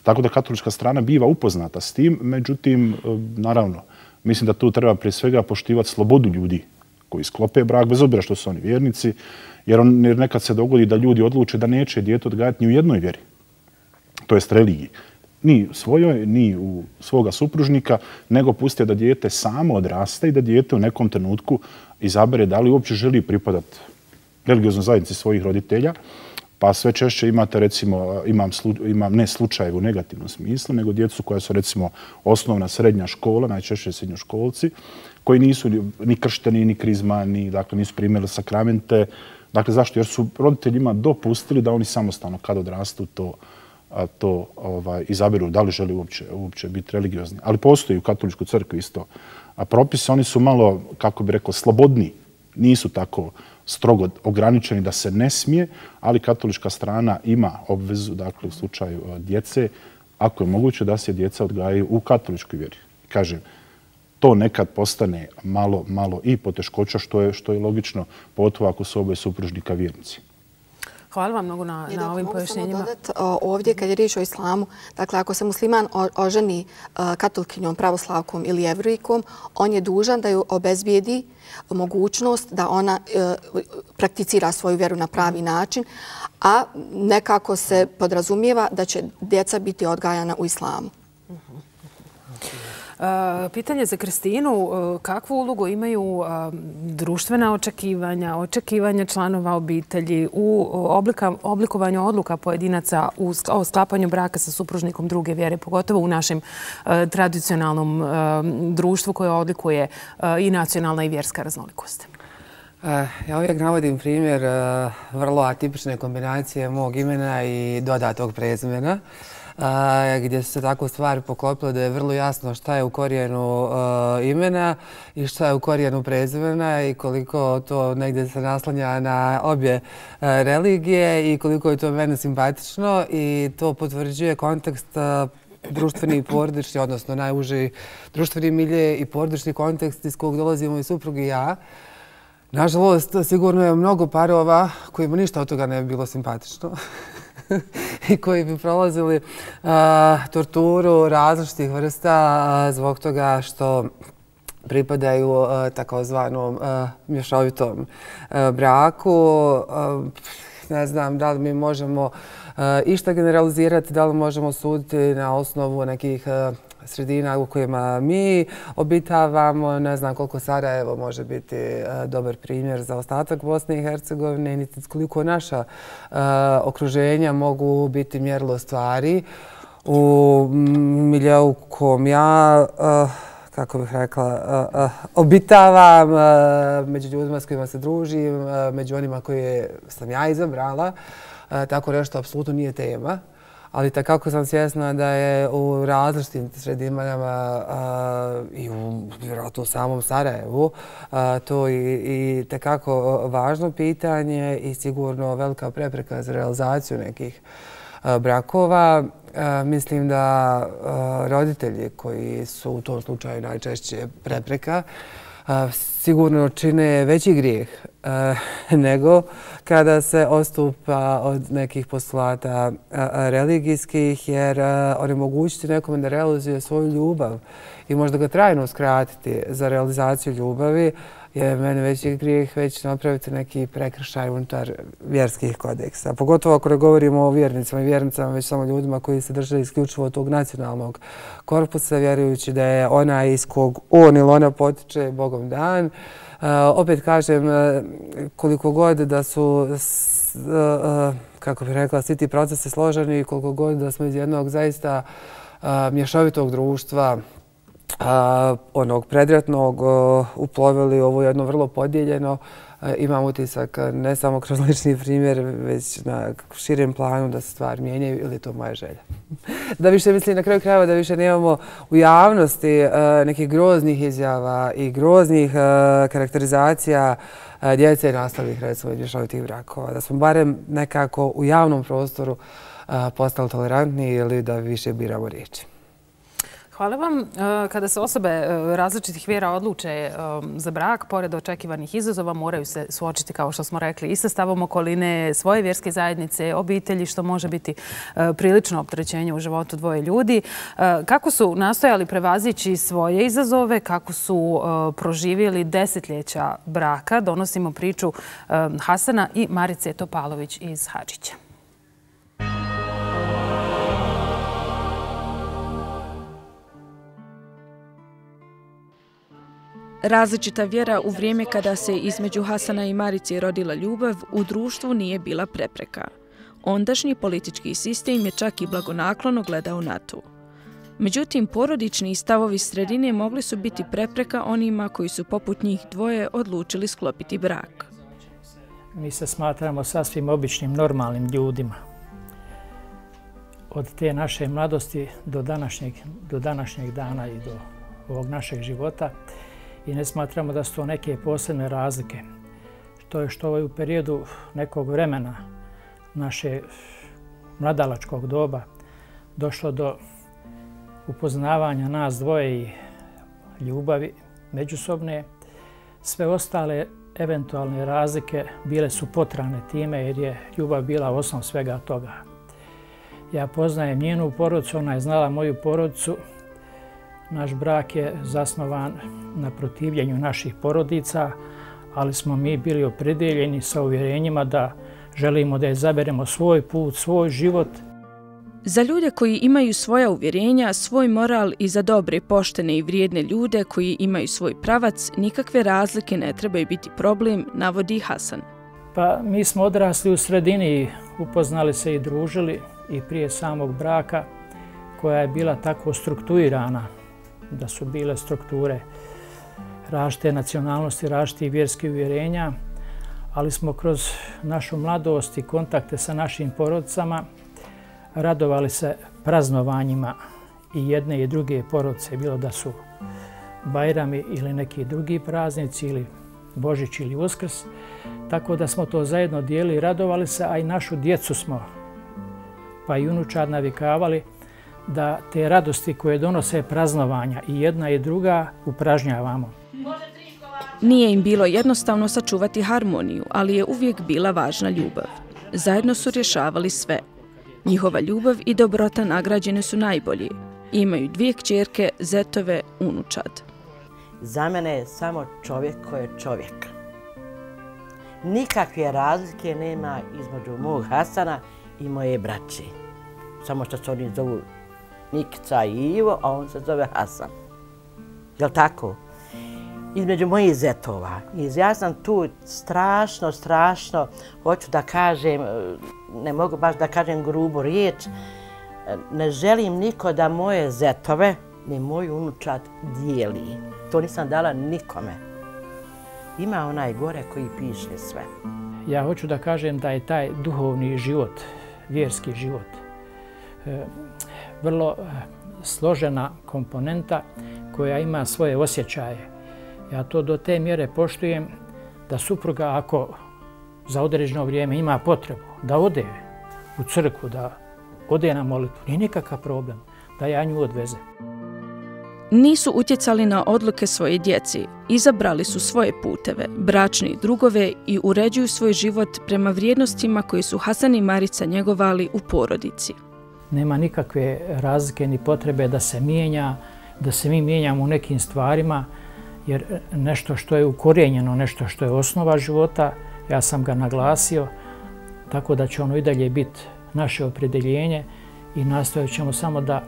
Tako da katolička strana biva upoznata s tim, međutim, naravno, mislim da tu treba prije svega poštivati slobodu ljudi koji sklope brak, bez obzira što su oni vjernici, jer nekad se dogodi da ljudi odluče da neće dijete odgajati ni u jednoj vjeri, to jest religiji. Ni svojoj, ni u svoga supružnika, nego puste da dijete samo odrasta i da dijete u nekom trenutku izabere da li uopće želi pripadati religioznoj zajednici svojih roditelja. Pa sve češće imate, recimo, imam ne slučajeve u negativnom smislu, nego djecu koja su, recimo, osnovna srednja škola, najčešće srednjoškolci, koji nisu ni kršteni, ni krizmani, dakle nisu primili sakramente. Dakle, zašto? Jer su roditeljima dopustili da oni samostalno, kad odrastu, to izaberu da li želi uopće biti religiozni. Ali postoji u katoličkoj crkvi isto propisi. Oni su malo, kako bi rekao, slobodni. Nisu tako strogo ograničeni da se ne smije, ali katolička strana ima obvezu, dakle, u slučaju djece, ako je moguće da se djeca odgajaju u katoličkoj vjeri. Kažem, to nekad postane malo i poteškoća, što je logično, pogotovo ako su oboje supružnika vjernici. Hvala vam mnogo na ovim pojašnjenjima. Mogu samo dodati ovdje, kad je riječ o islamu, dakle, ako se musliman oženi katolkinjom, pravoslavkom ili jevrejkom, on je dužan da ju obezbijedi mogućnost da ona prakticira svoju vjeru na pravi način, a nekako se podrazumijeva da će djeca biti odgajana u islamu. Pitanje za Kristinu, kakvu ulogu imaju društvena očekivanja članova obitelji u oblikovanju odluka pojedinaca o sklapanju braka sa supružnikom druge vjere, pogotovo u našem tradicionalnom društvu koje odlikuje i nacionalna i vjerska raznolikost? Ja uvijek navodim primjer vrlo atipične kombinacije mog imena i dodatog prezimena, gdje su se tako stvari poklopile da je vrlo jasno šta je u korijenu imena i šta je u korijenu prezimena i koliko to negdje se naslanja na obje religije i koliko je to mene simpatično i to potvrđuje kontekst društveni i porodični, odnosno najuži društveni milje i porodični kontekst iz kojeg dolazimo i suprug i ja. Nažalost, sigurno je mnogo parova kojima ništa od toga ne bi bilo simpatično i koji bi prolazili torturu različitih vrsta zbog toga što pripadaju takozvanom mješovitom braku. Ne znam da li mi možemo išta generalizirati, da li možemo suditi na osnovu nekih sredina u kojima mi obitavamo. Ne znam koliko Sarajevo može biti dobar primjer za ostatak Bosne i Hercegovine, niti koliko naša okruženja mogu biti mjerilo stvari. U miljeu u kom ja, kako bih rekla, obitavam, među ljudima s kojima se družim, među onima koje sam ja izabrala, tako nešto apsolutno nije tema. Ali takako sam svjesna da je u različitim sredinama i vjerojatno u samom Sarajevu to i takako važno pitanje i sigurno velika prepreka za realizaciju nekih brakova. Mislim da roditelji koji su u tom slučaju najčešće prepreka sigurno čine veći grijeh nego kada se odstupa od nekih postulata religijskih, jer onemogućiti nekome da realizuje svoju ljubav i možda ga trajno uskratiti za realizaciju ljubavi je meni veći grijeh već napraviti neki prekršaj unutar vjerskih kodeksa. Pogotovo ako ne govorimo o vjernicama i vjernicama, već samo ljudima koji se drže isključivo tog nacionalnog korpusa, vjerujući da je ona iz kog on ili ona potiče Bogom dan. Opet kažem, koliko god da su, kako bih rekla, svi ti procesi složeni i koliko god da smo iz jednog zaista mješovitog društva, onog predratnog, uplovili ovo jedno vrlo podijeljeno. Imam utisak ne samo kroz lični primjer, već na širem planu da se stvari mijenjaju, ili je to moja želja. Da više, mislim, na kraju krajeva da više nemamo u javnosti nekih groznih izjava i groznih karakterizacija djece i nastalih, recimo, mješovitih brakova. Da smo barem nekako u javnom prostoru postali tolerantni ili da više biramo riječi. Hvala vam. Kada se osobe različitih vjera odluče za brak, pored očekivanih izazova, moraju se suočiti, kao što smo rekli, i sa stavom okoline, svoje vjerske zajednice, obitelji, što može biti prilično opterećenje u životu dvoje ljudi. Kako su nastojali prevazići svoje izazove, kako su proživjeli desetljeća braka, donosimo priču Hasana i Marice Topalović iz Hadžića. Različita vjera u vrijeme kada se između Hasana i Marice rodila ljubav u društvu nije bila prepreka. Ondašnji politički sistem je čak i blagonaklono gledao na to. Međutim, porodični stavovi sredine mogli su biti prepreka onima koji su poput njih dvoje odlučili sklopiti brak. Mi se smatramo sasvim običnim, normalnim ljudima. Od te naše mladosti do današnjeg dana i do ovog našeg života. I ne smatramo da su to neke posebne razlike. Što je u periodu nekog vremena naše mladalačkog doba došlo do upoznavanja nas dvoje i ljubavi međusobne. Sve ostale eventualne razlike bile su potrane time jer je ljubav bila osnov svega toga. Ja poznajem njenu porodicu, ona je znala moju porodicu. Naš brak je zasnovan na protivljenju naših porodica, ali smo mi bili opredeljeni sa uvjerenjima da želimo da izaberemo svoj put, svoj život. Za ljude koji imaju svoja uvjerenja, svoj moral i za dobre, poštene i vrijedne ljude koji imaju svoj pravac, nikakve razlike ne trebaju biti problem, navodi Hasan. Pa mi smo odrasli u sredini, upoznali se i družili i prije samog braka, koja je bila tako strukturirana, da su bile strukture različite nacionalnosti, različitih vjerskih uvjerenja, ali smo kroz našu mladost i kontakte sa našim porodicama radovali se praznovanjima i jedne i druge porodice, bilo da su Bajrami ili neki drugi praznici ili Božić ili Uskrs, tako da smo to zajedno dijelili i radovali se, a i našu djecu smo, pa i unučad navikavali da te radosti koje donose praznovanja i jedna i druga upražnjavamo. Nije im bilo jednostavno sačuvati harmoniju, ali je uvijek bila važna ljubav. Zajedno su rješavali sve. Njihova ljubav i dobrota nagrađene su najbolji. Imaju 2 kćerke, zetove, unučad. Za mene je samo čovjek koji je čovjek. Nikakve razlike nema između mog Hasana i moje braće. Samo što se oni zovu Nikica i Ivo, a on se zove Hasan. Jel' tako? Između mojih zetova. Ja sam tu strašno, hoću da kažem, ne mogu baš da kažem grubu riječ, ne želim niko da moje zetove ni moj unučad dijeli. To nisam dala nikome. Ima onaj gore koji piše sve. Ja hoću da kažem da je taj duhovni život, vjerski život, vrlo složena komponenta koja ima svoje osjećaje. Ja to do te mjere poštujem da supruga, ako za određeno vrijeme ima potrebu da ode u crkvu, da ode na molitvu, nije nikakav problem da ja nju odvezem. Nisu utjecali na odluke svoje djeci, izabrali su svoje puteve, bračni drugove i uređuju svoj život prema vrijednostima koje su Hasan i Marica njegovali u porodici. Nema nikakve razlike ni potrebe da se mijenja, da se mi mijenjamo u nekim stvarima, jer nešto što je ukorijenjeno, nešto što je osnova života, ja sam ga naglasio, tako da će ono i dalje biti naše opredjeljenje i nastojat ćemo samo da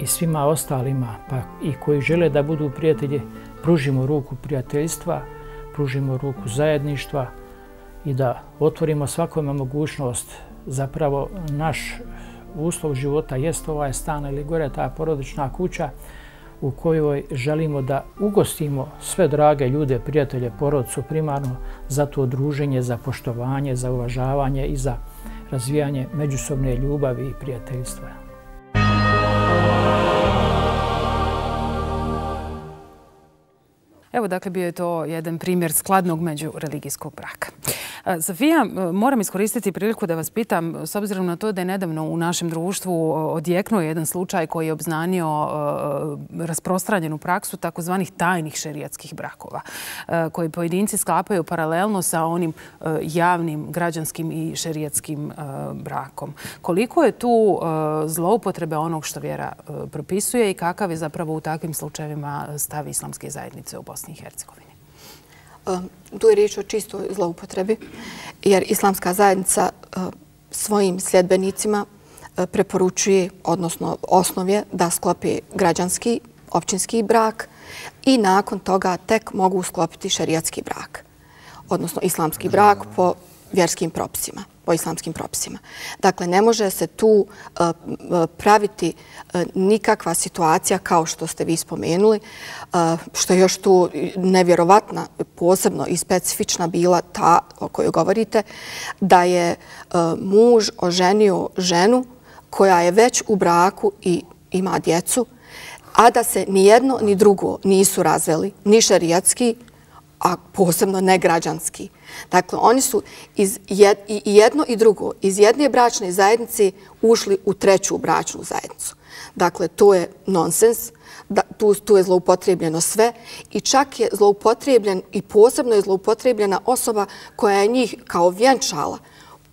i svima ostalima, pa i koji žele da budu prijatelji, pružimo ruku prijateljstva, pružimo ruku zajedništva i da otvorimo svakome mogućnost. Zapravo naš uslov života jest ovaj stan ili gore ta porodična kuća u kojoj želimo da ugostimo sve drage ljude, prijatelje, porodicu primarno za to druženje, za poštovanje, za uvažavanje i za razvijanje međusobne ljubavi i prijateljstva. Evo, dakle, bio je to jedan primjer skladnog međureligijskog braka. Safija, moram iskoristiti priliku da vas pitam, s obzirom na to da je nedavno u našem društvu odjeknuo jedan slučaj koji je obznanio rasprostranjenu praksu takozvanih tajnih šerijatskih brakova, koji pojedinci sklapaju paralelno sa onim javnim, građanskim i šerijatskim brakom. Koliko je tu zloupotrebe onog što vjera propisuje i kakav je zapravo u takvim slučajevima stav islamske zajednice u Bosni i Hercegovini? Tu je riječ o čistoj zloupotrebi, jer islamska zajednica svojim sljedbenicima preporučuje, odnosno osnov je da sklopi građanski, općinski brak i nakon toga tek mogu sklopiti šerijatski brak, odnosno islamski brak po vjerskim propisima, po islamskim propisima. Dakle, ne može se tu praviti nikakva situacija kao što ste vi spomenuli, što je još tu nevjerovatna, posebno i specifična bila ta o kojoj govorite, da je muž oženio ženu koja je već u braku i ima djecu, a da se ni jedno ni drugo nisu razveli, ni šerijatski, a posebno ne građanski. Dakle, oni su i jedno i drugo iz jedne bračne zajednice ušli u treću bračnu zajednicu. Dakle, to je nonsens, tu je zloupotrebljeno sve i čak je zloupotrebljen i posebno je zloupotrebljena osoba koja je njih kao vjenčala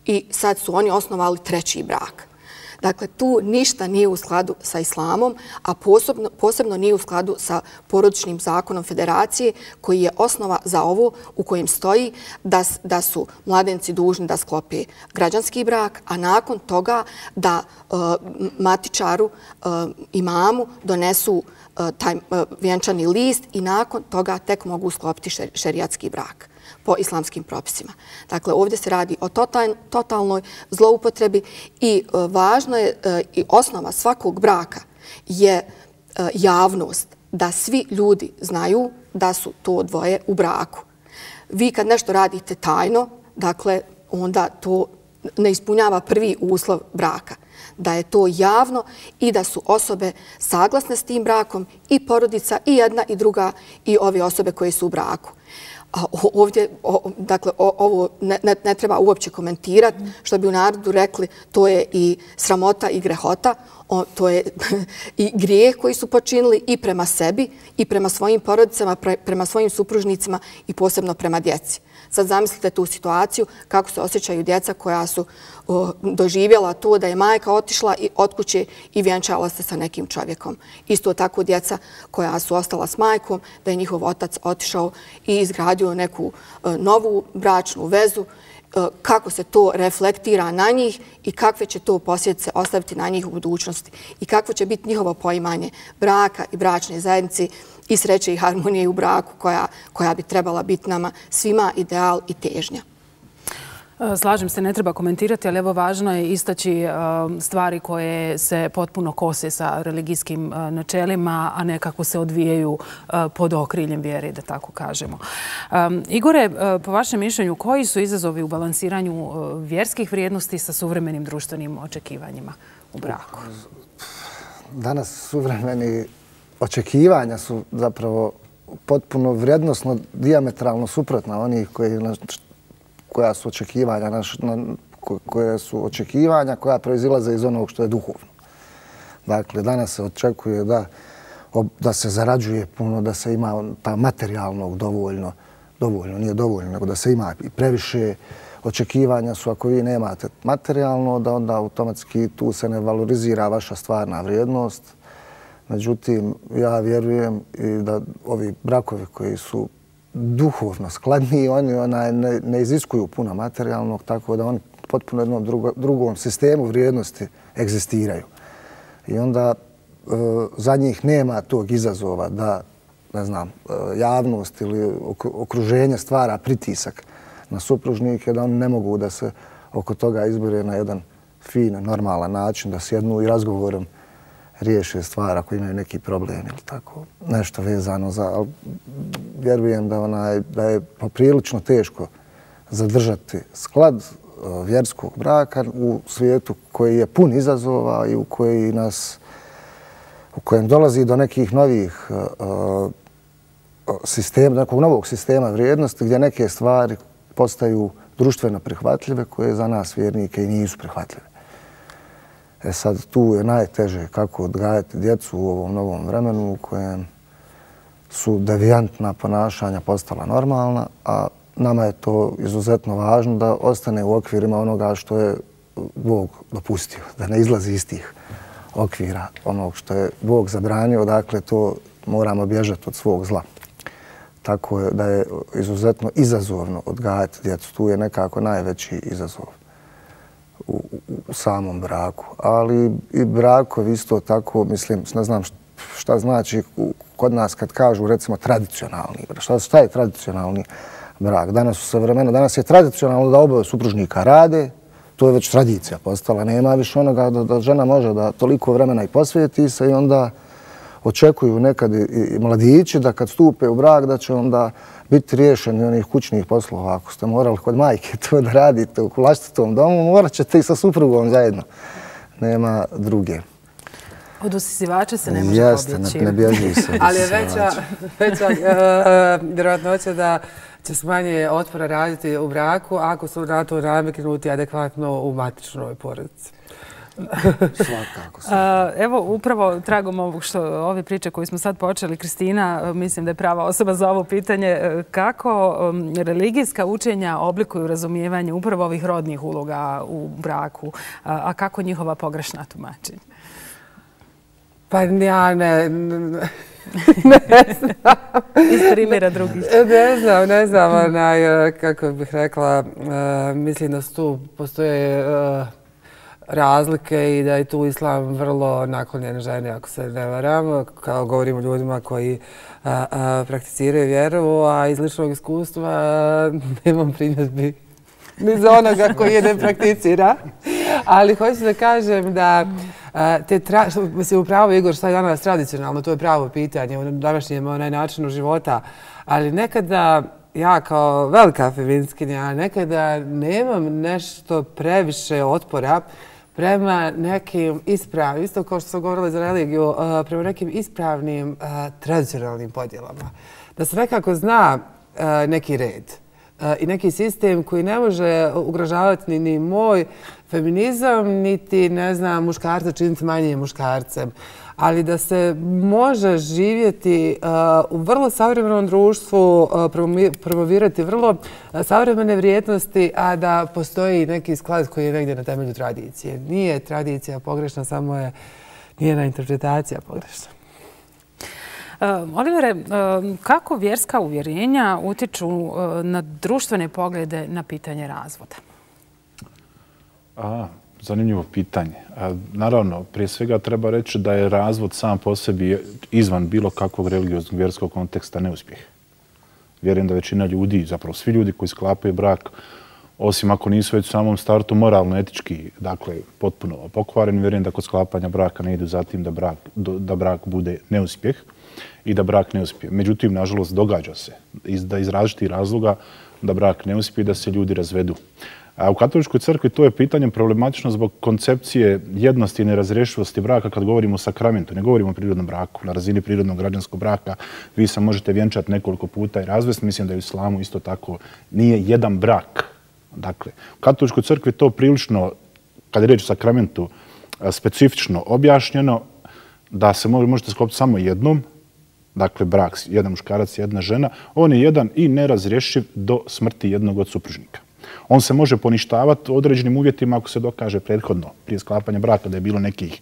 i sad su oni osnovali treći brak. Dakle, tu ništa nije u skladu sa islamom, a posebno nije u skladu sa porodičnim zakonom federacije koji je osnova za ovo u kojem stoji da su mladenci dužni da sklope građanski brak, a nakon toga da matičaru, imamu donesu taj vjenčani list i nakon toga tek mogu sklopiti šerijatski brak po islamskim propisima. Dakle, ovdje se radi o totalnoj zloupotrebi i važno je i osnova svakog braka je javnost, da svi ljudi znaju da su to dvoje u braku. Vi kad nešto radite tajno, dakle, onda to ne ispunjava prvi uslov braka. Da je to javno i da su osobe saglasne s tim brakom i porodica i jedna i druga i ove osobe koje su u braku. Ovdje, dakle, ovo ne treba uopće komentirati, što bi u narodu rekli, to je i sramota i grehota, to je i grijeh koji su počinili i prema sebi i prema svojim porodicama, prema svojim supružnicima i posebno prema djeci. Sad zamislite tu situaciju kako se osjećaju djeca koja su doživjela to da je majka otišla od kuće i vjenčala se sa nekim čovjekom. Isto tako djeca koja su ostala s majkom, da je njihov otac otišao i izgradio neku novu bračnu vezu, kako se to reflektira na njih i kakve će to posljedice ostaviti na njih u budućnosti i kakvo će biti njihovo poimanje braka i bračne zajednice i sreće i harmonije u braku koja bi trebala biti nama svima ideal i težnja. Slažem se, ne treba komentirati, ali evo važno je istaći stvari koje se potpuno kose sa religijskim načelima, a nekako se odvijaju pod okriljem vjere, da tako kažemo. Igore, po vašem mišljenju, koji su izazovi u balansiranju vjerskih vrijednosti sa suvremenim društvenim očekivanjima u braku? Danas suvremeni očekivanja su zapravo potpuno vrijednosno, dijametralno suprotna onih koja su očekivanja koja proizilaze iz onog što je duhovno. Dakle, danas se očekuje da da se zarađuje puno, da se ima materijalnog dovoljno, nije dovoljno, nego da se ima i previše očekivanja su ako vi nemate materijalno, da onda automatski tu se ne valorizira vaša stvarna vrijednost. Međutim, ja vjerujem i da ovi brakovi koji su duhovno skladniji, oni ne iziskuju puno materijalnog, tako da oni potpuno jednom drugom sistemu vrijednosti egzistiraju. I onda za njih nema tog izazova da, ne znam, javnost ili okruženje stvara pritisak na supružnike, da oni ne mogu da se oko toga izbore na jedan fin, normalan način, da sjednu i razgovorom riješe stvar ako imaju neki problem ili tako nešto vezano za... Ali vjerujem da je poprilično teško zadržati sklad vjerskog braka u svijetu koji je pun izazova i u kojem dolazi do nekih novih sistema, nekog novog sistema vrijednosti gdje neke stvari postaju društveno prihvatljive koje za nas vjernike i nisu prihvatljive. Sad tu je najteže kako odgajati djecu u ovom novom vremenu u kojem su devijantna ponašanja postala normalna, a nama je to izuzetno važno da ostane u okvirima onoga što je Bog dopustio, da ne izlazi iz tih okvira onog što je Bog zabranio, dakle to moramo bježati od svog zla. Tako je da je izuzetno izazovno odgajati djecu. Tu je nekako najveći izazov u samom braku. Ali i brakovi isto tako, mislim, ne znam šta znači kod nas kad kažu recimo tradicionalni brak. Šta je tradicionalni brak? Danas je tradicionalno da oboje supružnika rade, to je već tradicija postala. Nema više onoga da žena može da toliko vremena i posvijeti se i onda očekuju nekad i mladići da kad stupe u brak da će onda biti riješeni onih kućnih poslova. Ako ste morali kod majke to da radite u vlastitom domu, morat ćete i sa suprugom zajedno. Nema druge. Od usisivača se ne može pobjeći. Jeste, ne bježi se. Ali je veća vjerojatnoća da će se manje otpora raditi u braku ako su na to nameknuti adekvatno u matičnoj porodici. Svakako. Evo, upravo tragom ove priče koju smo sad počeli, Kristina, mislim da je prava osoba za ovo pitanje. Kako religijska učenja oblikuju razumijevanje upravo ovih rodnih uloga u braku, a kako njihova pogrešna tumačenja? Pa ja ne znam. Iz primjera drugih. Ne znam, kako bih rekla, mislim da tu postoje razlike i da je tu islam vrlo naklonjen žene, ako se ne varam, kao govorimo ljudima koji prakticiraju vjeru, a iz ličnog iskustva nemam primjedbi ni za onoga koji je ne prakticira. Ali hoću da kažem da mislim upravo Igor šta je danas tradicionalno, to je pravo pitanje u današnjem načinu života, ali nekada ja kao velika feministkinja nekada nemam nešto previše otpora prema nekim ispravnim, isto kao što sam govorila za religiju, prema nekim ispravnim tradicionalnim podjelama. Da se nekako zna neki red i neki sistem koji ne može ugrožavati ni moj feminizam, niti, ne znam, muškarca činiti manjim muškarcem. Ali da se može živjeti u vrlo savremenom društvu, promovirati vrlo savremene vrijednosti, a da postoji neki sklad koji je negdje na temelju tradicije. Nije tradicija pogrešna, samo je njena interpretacija pogrešna. Olivere, kako vjerska uvjerenja utiču na društvene poglede na pitanje razvoda? Zanimljivo pitanje. Naravno, prije svega treba reći da je razvod sam po sebi izvan bilo kakvog religioznog vjerskog konteksta neuspjeh. Vjerujem da većina ljudi, zapravo svi ljudi koji sklapaju brak, osim ako nisu već u samom startu moralno, etički, dakle, potpuno pokvareni, vjerujem da kod sklapanja braka ne idu za tim da brak bude neuspjeh i da brak ne uspije. Međutim, nažalost, događa se da iz različitih razloga da brak ne uspije, da se ljudi razvedu. A u katoličkoj crkvi to je pitanje problematično zbog koncepcije jednosti i nerazrešivosti braka kad govorimo o sakramentu. Ne govorimo o prirodnom braku. Na razini prirodnog građanskog braka vi se možete vjenčati nekoliko puta i razvesti. Mislim da je u islamu isto tako nije jedan brak. Dakle, u katoličkoj crkvi to prilično, kad je riječ o sakramentu, specifično objašnjeno. da se možete sklopiti samo jednom, dakle brak, jedan muškarac, jedna žena, on je jedan i nerazrješiv do smrti jednog od supružnika. On se može poništavati u određenim uvjetima ako se dokaže prethodno prije sklapanja braka da je bilo nekih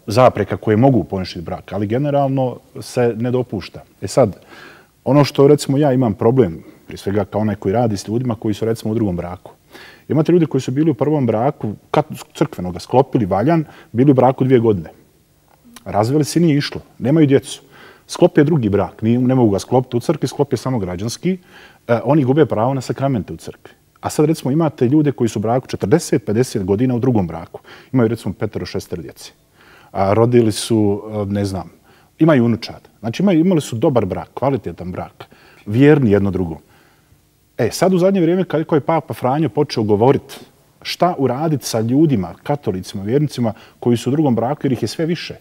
zapreka koje mogu poništiti brak, ali generalno se ne dopušta. Sad, ono što recimo ja imam problem, prije svega kao onaj koji radi s ljudima koji su recimo u drugom braku. Imate ljudi koji su bili u prvom braku, crkvenoga, sklopili valjan, bili u braku 2 godine. Razveli se, nije išlo, nemaju djecu. Sklopio drugi brak, ne mogu ga sklopiti u crkvi, sklopio samo građanski, oni gube pravo na sakramente u crkvi. A sad recimo imate ljude koji su u braku 40-50 godina u drugom braku. Imaju recimo 5-6 djece. Rodili su, ne znam, imaju unučad. Znači imali su dobar brak, kvalitetan brak, vjerni jedno drugom. Sad u zadnje vrijeme kako je Papa Franjo počeo govoriti šta uraditi sa ljudima, katolicima, vjernicima koji su u drugom braku jer ih je sve više.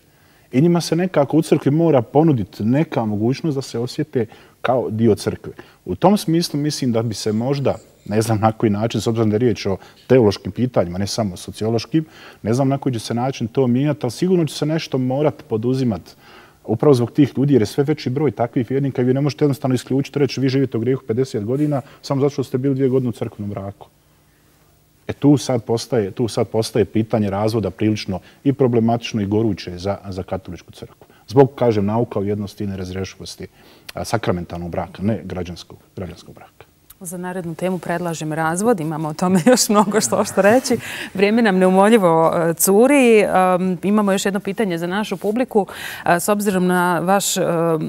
I njima se nekako u crkvi mora ponuditi neka mogućnost da se osjete kao dio crkve. U tom smislu mislim da bi se možda, ne znam na koji način, s obzirom da je riječ o teološkim pitanjima, ne samo sociološkim, ne znam na koji će se način to mijenjati, ali sigurno će se nešto morati poduzimati upravo zbog tih ljudi, jer je sve veći broj takvih vjernika i vi ne možete jednostavno isključiti, reći vi živite u grijehu 50 godina samo zato što ste bili 2 godine u crkvenom braku. Tu sad postaje pitanje razvoda prilično i problematično i goruće za katoličku crkvu. Zbog, kažem, nauka o jednosti i nerazrešivosti sakramentalnog braka, ne građanskog braka. Za narednu temu predlažem razvod. Imamo o tome još mnogo što reći. Vrijeme nam neumoljivo curi. Imamo još jedno pitanje za našu publiku. S obzirom na vaš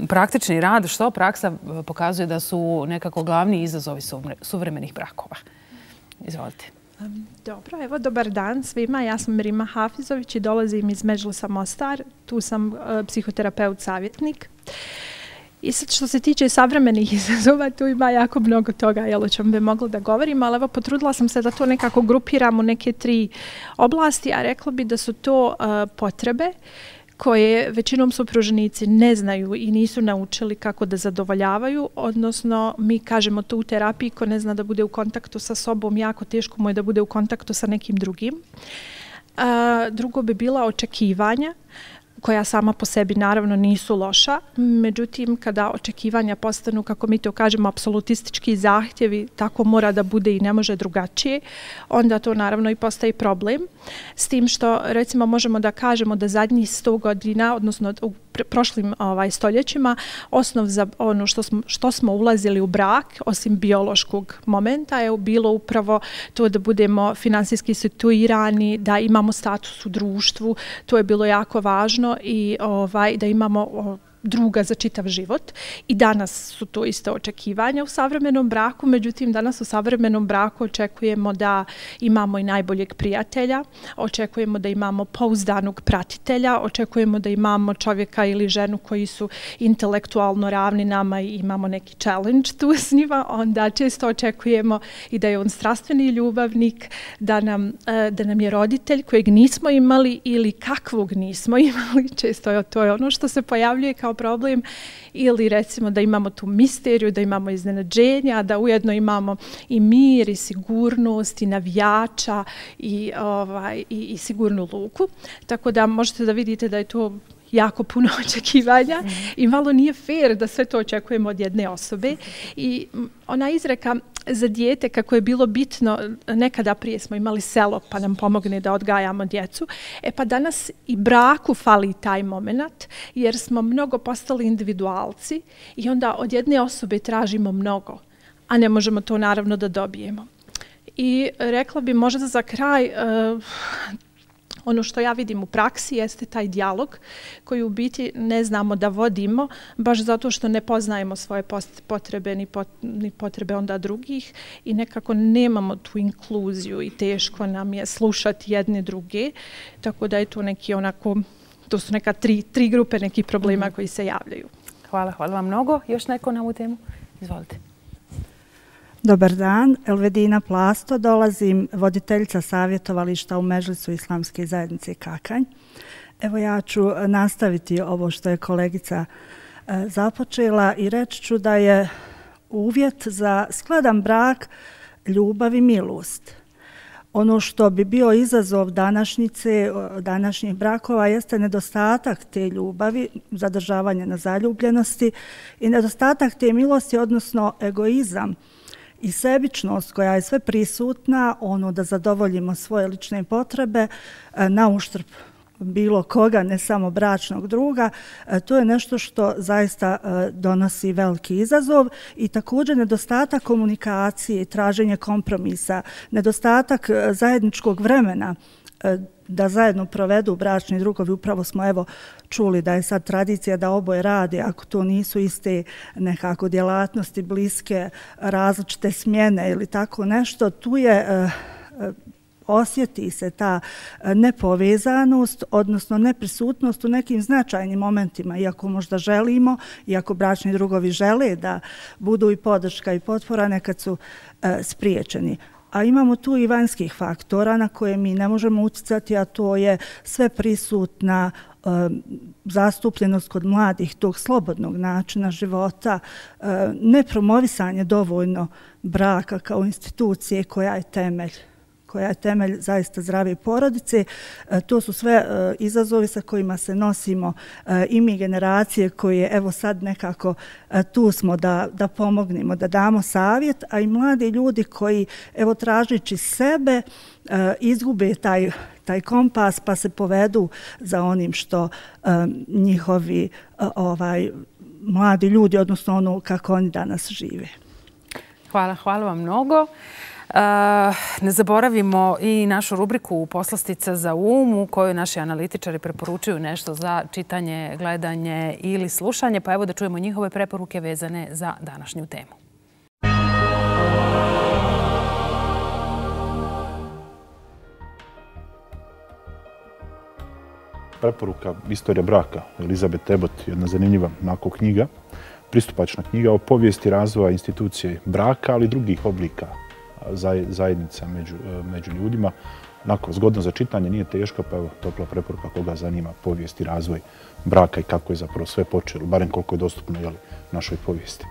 praktični rad, što praksa pokazuje da su nekako glavni izazovi suvremenih brakova? Izvolite. Dobro, evo, dobar dan svima. Ja sam Rima Hafizović i dolazim iz Medžlisa Mostar. Tu sam psihoterapeut savjetnik. I sad što se tiče savremenih izazova, tu ima jako mnogo toga o čemu bi mogla da govorim, ali evo potrudila sam se da to nekako grupiram u neke 3 oblasti, a rekla bi da su to potrebe koje većinom supružnici ne znaju i nisu naučili kako da zadovoljavaju, odnosno mi kažemo to u terapiji, ko ne zna da bude u kontaktu sa sobom, jako teško mu je da bude u kontaktu sa nekim drugim. Drugo bi bila očekivanja, koja sama po sebi naravno nisu loša. Međutim, kada očekivanja postanu, kako mi to kažemo, apsolutistički zahtjevi, tako mora da bude i ne može drugačije, onda to naravno i postaje problem. S tim što, recimo, možemo da kažemo da zadnjih 100 godina, odnosno u prošlim stoljećima, osnov za ono što smo ulazili u brak, osim biološkog momenta, je bilo upravo to da budemo finansijski situirani, da imamo status u društvu, to je bilo jako važno i da imamo druga za čitav život. I danas su to isto očekivanja u savremenom braku, međutim danas u savremenom braku očekujemo da imamo i najboljeg prijatelja, očekujemo da imamo pouzdanog pratitelja, očekujemo da imamo čovjeka ili ženu koji su intelektualno ravni nama i imamo neki challenge tu s njima, onda često očekujemo i da je on strastveni ljubavnik, da nam je roditelj kojeg nismo imali ili kakvog nismo imali, često to je ono što se pojavljuje kao problem, ili recimo da imamo tu misteriju, da imamo iznenađenja, da ujedno imamo i mir i sigurnost i navijača i sigurnu luku. Tako da možete da vidite da je to jako puno očekivanja i malo nije fair da sve to očekujemo od jedne osobe. I ona izreka za dijete kako je bilo bitno, nekada prije smo imali selo pa nam pomogne da odgajamo djecu, pa danas i braku fali taj moment jer smo mnogo postali individualci i onda od jedne osobe tražimo mnogo, a ne možemo to naravno da dobijemo. I rekla bi možda za kraj, ono što ja vidim u praksi jeste taj dijalog koji u biti ne znamo da vodimo baš zato što ne poznajemo svoje potrebe ni potrebe onda drugih i nekako nemamo tu inkluziju i teško nam je slušati jedne druge. Tako da je to neki onako, to su neka tri grupe nekih problema koji se javljaju. Hvala vam mnogo. Još neko na ovu temu? Izvolite. Dobar dan, Elvedina Plasto, dolazim voditeljica savjetovališta u Medžlisu Islamske zajednice Kakanj. Evo ja ću nastaviti ovo što je kolegica započela i reći ću da je uvjet za skladan brak ljubav i milost. Ono što bi bio izazov današnjih brakova jeste nedostatak te ljubavi, zadržavanje na zaljubljenosti i nedostatak te milosti, odnosno egoizam i sebičnost koja je sve prisutna, da zadovoljimo svoje lične potrebe na uštrb bilo koga, ne samo bračnog druga. To je nešto što zaista donosi veliki izazov i također nedostatak komunikacije i traženje kompromisa, nedostatak zajedničkog vremena da zajedno provedu bračni drugovi. Upravo smo čuli da je sad tradicija da oboje rade, ako to nisu iste nekako djelatnosti, bliske, različite smjene ili tako nešto, tu je osjeti se ta nepovezanost, odnosno neprisutnost u nekim značajnim momentima, iako možda želimo, iako bračni drugovi žele da budu i podrška i potpora, nekad su spriječeni. A imamo tu i vanjskih faktora na koje mi ne možemo utjecati, a to je sve prisutna zastupljenost kod mladih tog slobodnog načina života, nepromovisanje dovoljno braka kao institucije koja je temelj zaista zdrave porodice. To su sve izazovi sa kojima se nosimo i mi generacije koje evo sad nekako tu smo da pomognemo, da damo savjet, a i mladi ljudi koji evo tražeći sebe izgube taj kompas pa se povedu za onim što njihovi mladi ljudi, odnosno ono kako oni danas žive. Hvala vam mnogo. Ne zaboravimo i našu rubriku Poslastica za um u kojoj naši analitičari preporučuju nešto za čitanje, gledanje ili slušanje. Pa evo da čujemo njihove preporuke vezane za današnju temu. Preporuka Istorija braka, Elizabeth Abbot, jedna zanimljiva onako knjiga, pristupačna knjiga o povijesti razvoja institucije braka, ali i drugih oblika zajednica među ljudima. Onako, zgodno za čitanje, nije teška, pa evo, topla preporuka koga zanima povijest i razvoj braka i kako je zapravo sve počelo, barem koliko je dostupno našoj povijesti.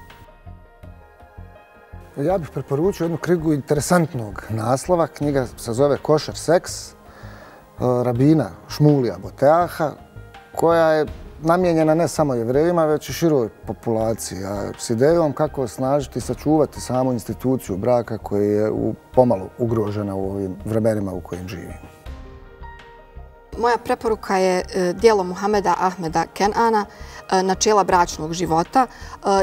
Ja bih preporučio jednu knjigu interesantnog naslova. Knjiga se zove Košer seks, rabina Šmulija Boteaha, koja je namijenjena ne samo Jevrejima, već i široj populaciji, s idejom kako osnažiti i sačuvati samu instituciju braka koja je pomalo ugrožena u ovim vremenima u kojim živimo. Moja preporuka je djelo Muhameda Ahmeda Kenana, Načela bračnog života.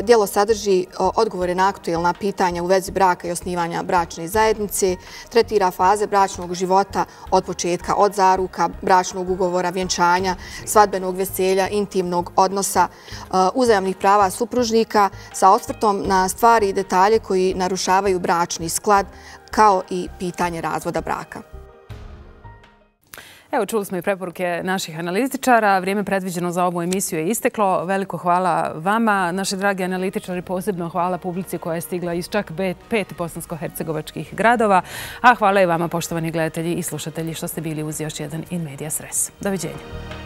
Djelo sadrži odgovore na aktuelna pitanja u vezi braka i osnivanja bračne zajednice, tretira faze bračnog života od početka, od zaruka, bračnog ugovora, vjenčanja, svadbenog veselja, intimnog odnosa, uzajamnih prava supružnika sa osvrtom na stvari i detalje koji narušavaju bračni sklad, kao i pitanje razvoda braka. Evo, čuli smo i preporuke naših analitičara. Vrijeme predviđeno za ovu emisiju je isteklo. Veliko hvala vama, naši dragi analitičari, posebno hvala publici koja je stigla iz čak 5 bosansko-hercegovačkih gradova. A hvala i vama, poštovani gledatelji i slušatelji, što ste bili uz još jedan In Medias Res. Doviđenja.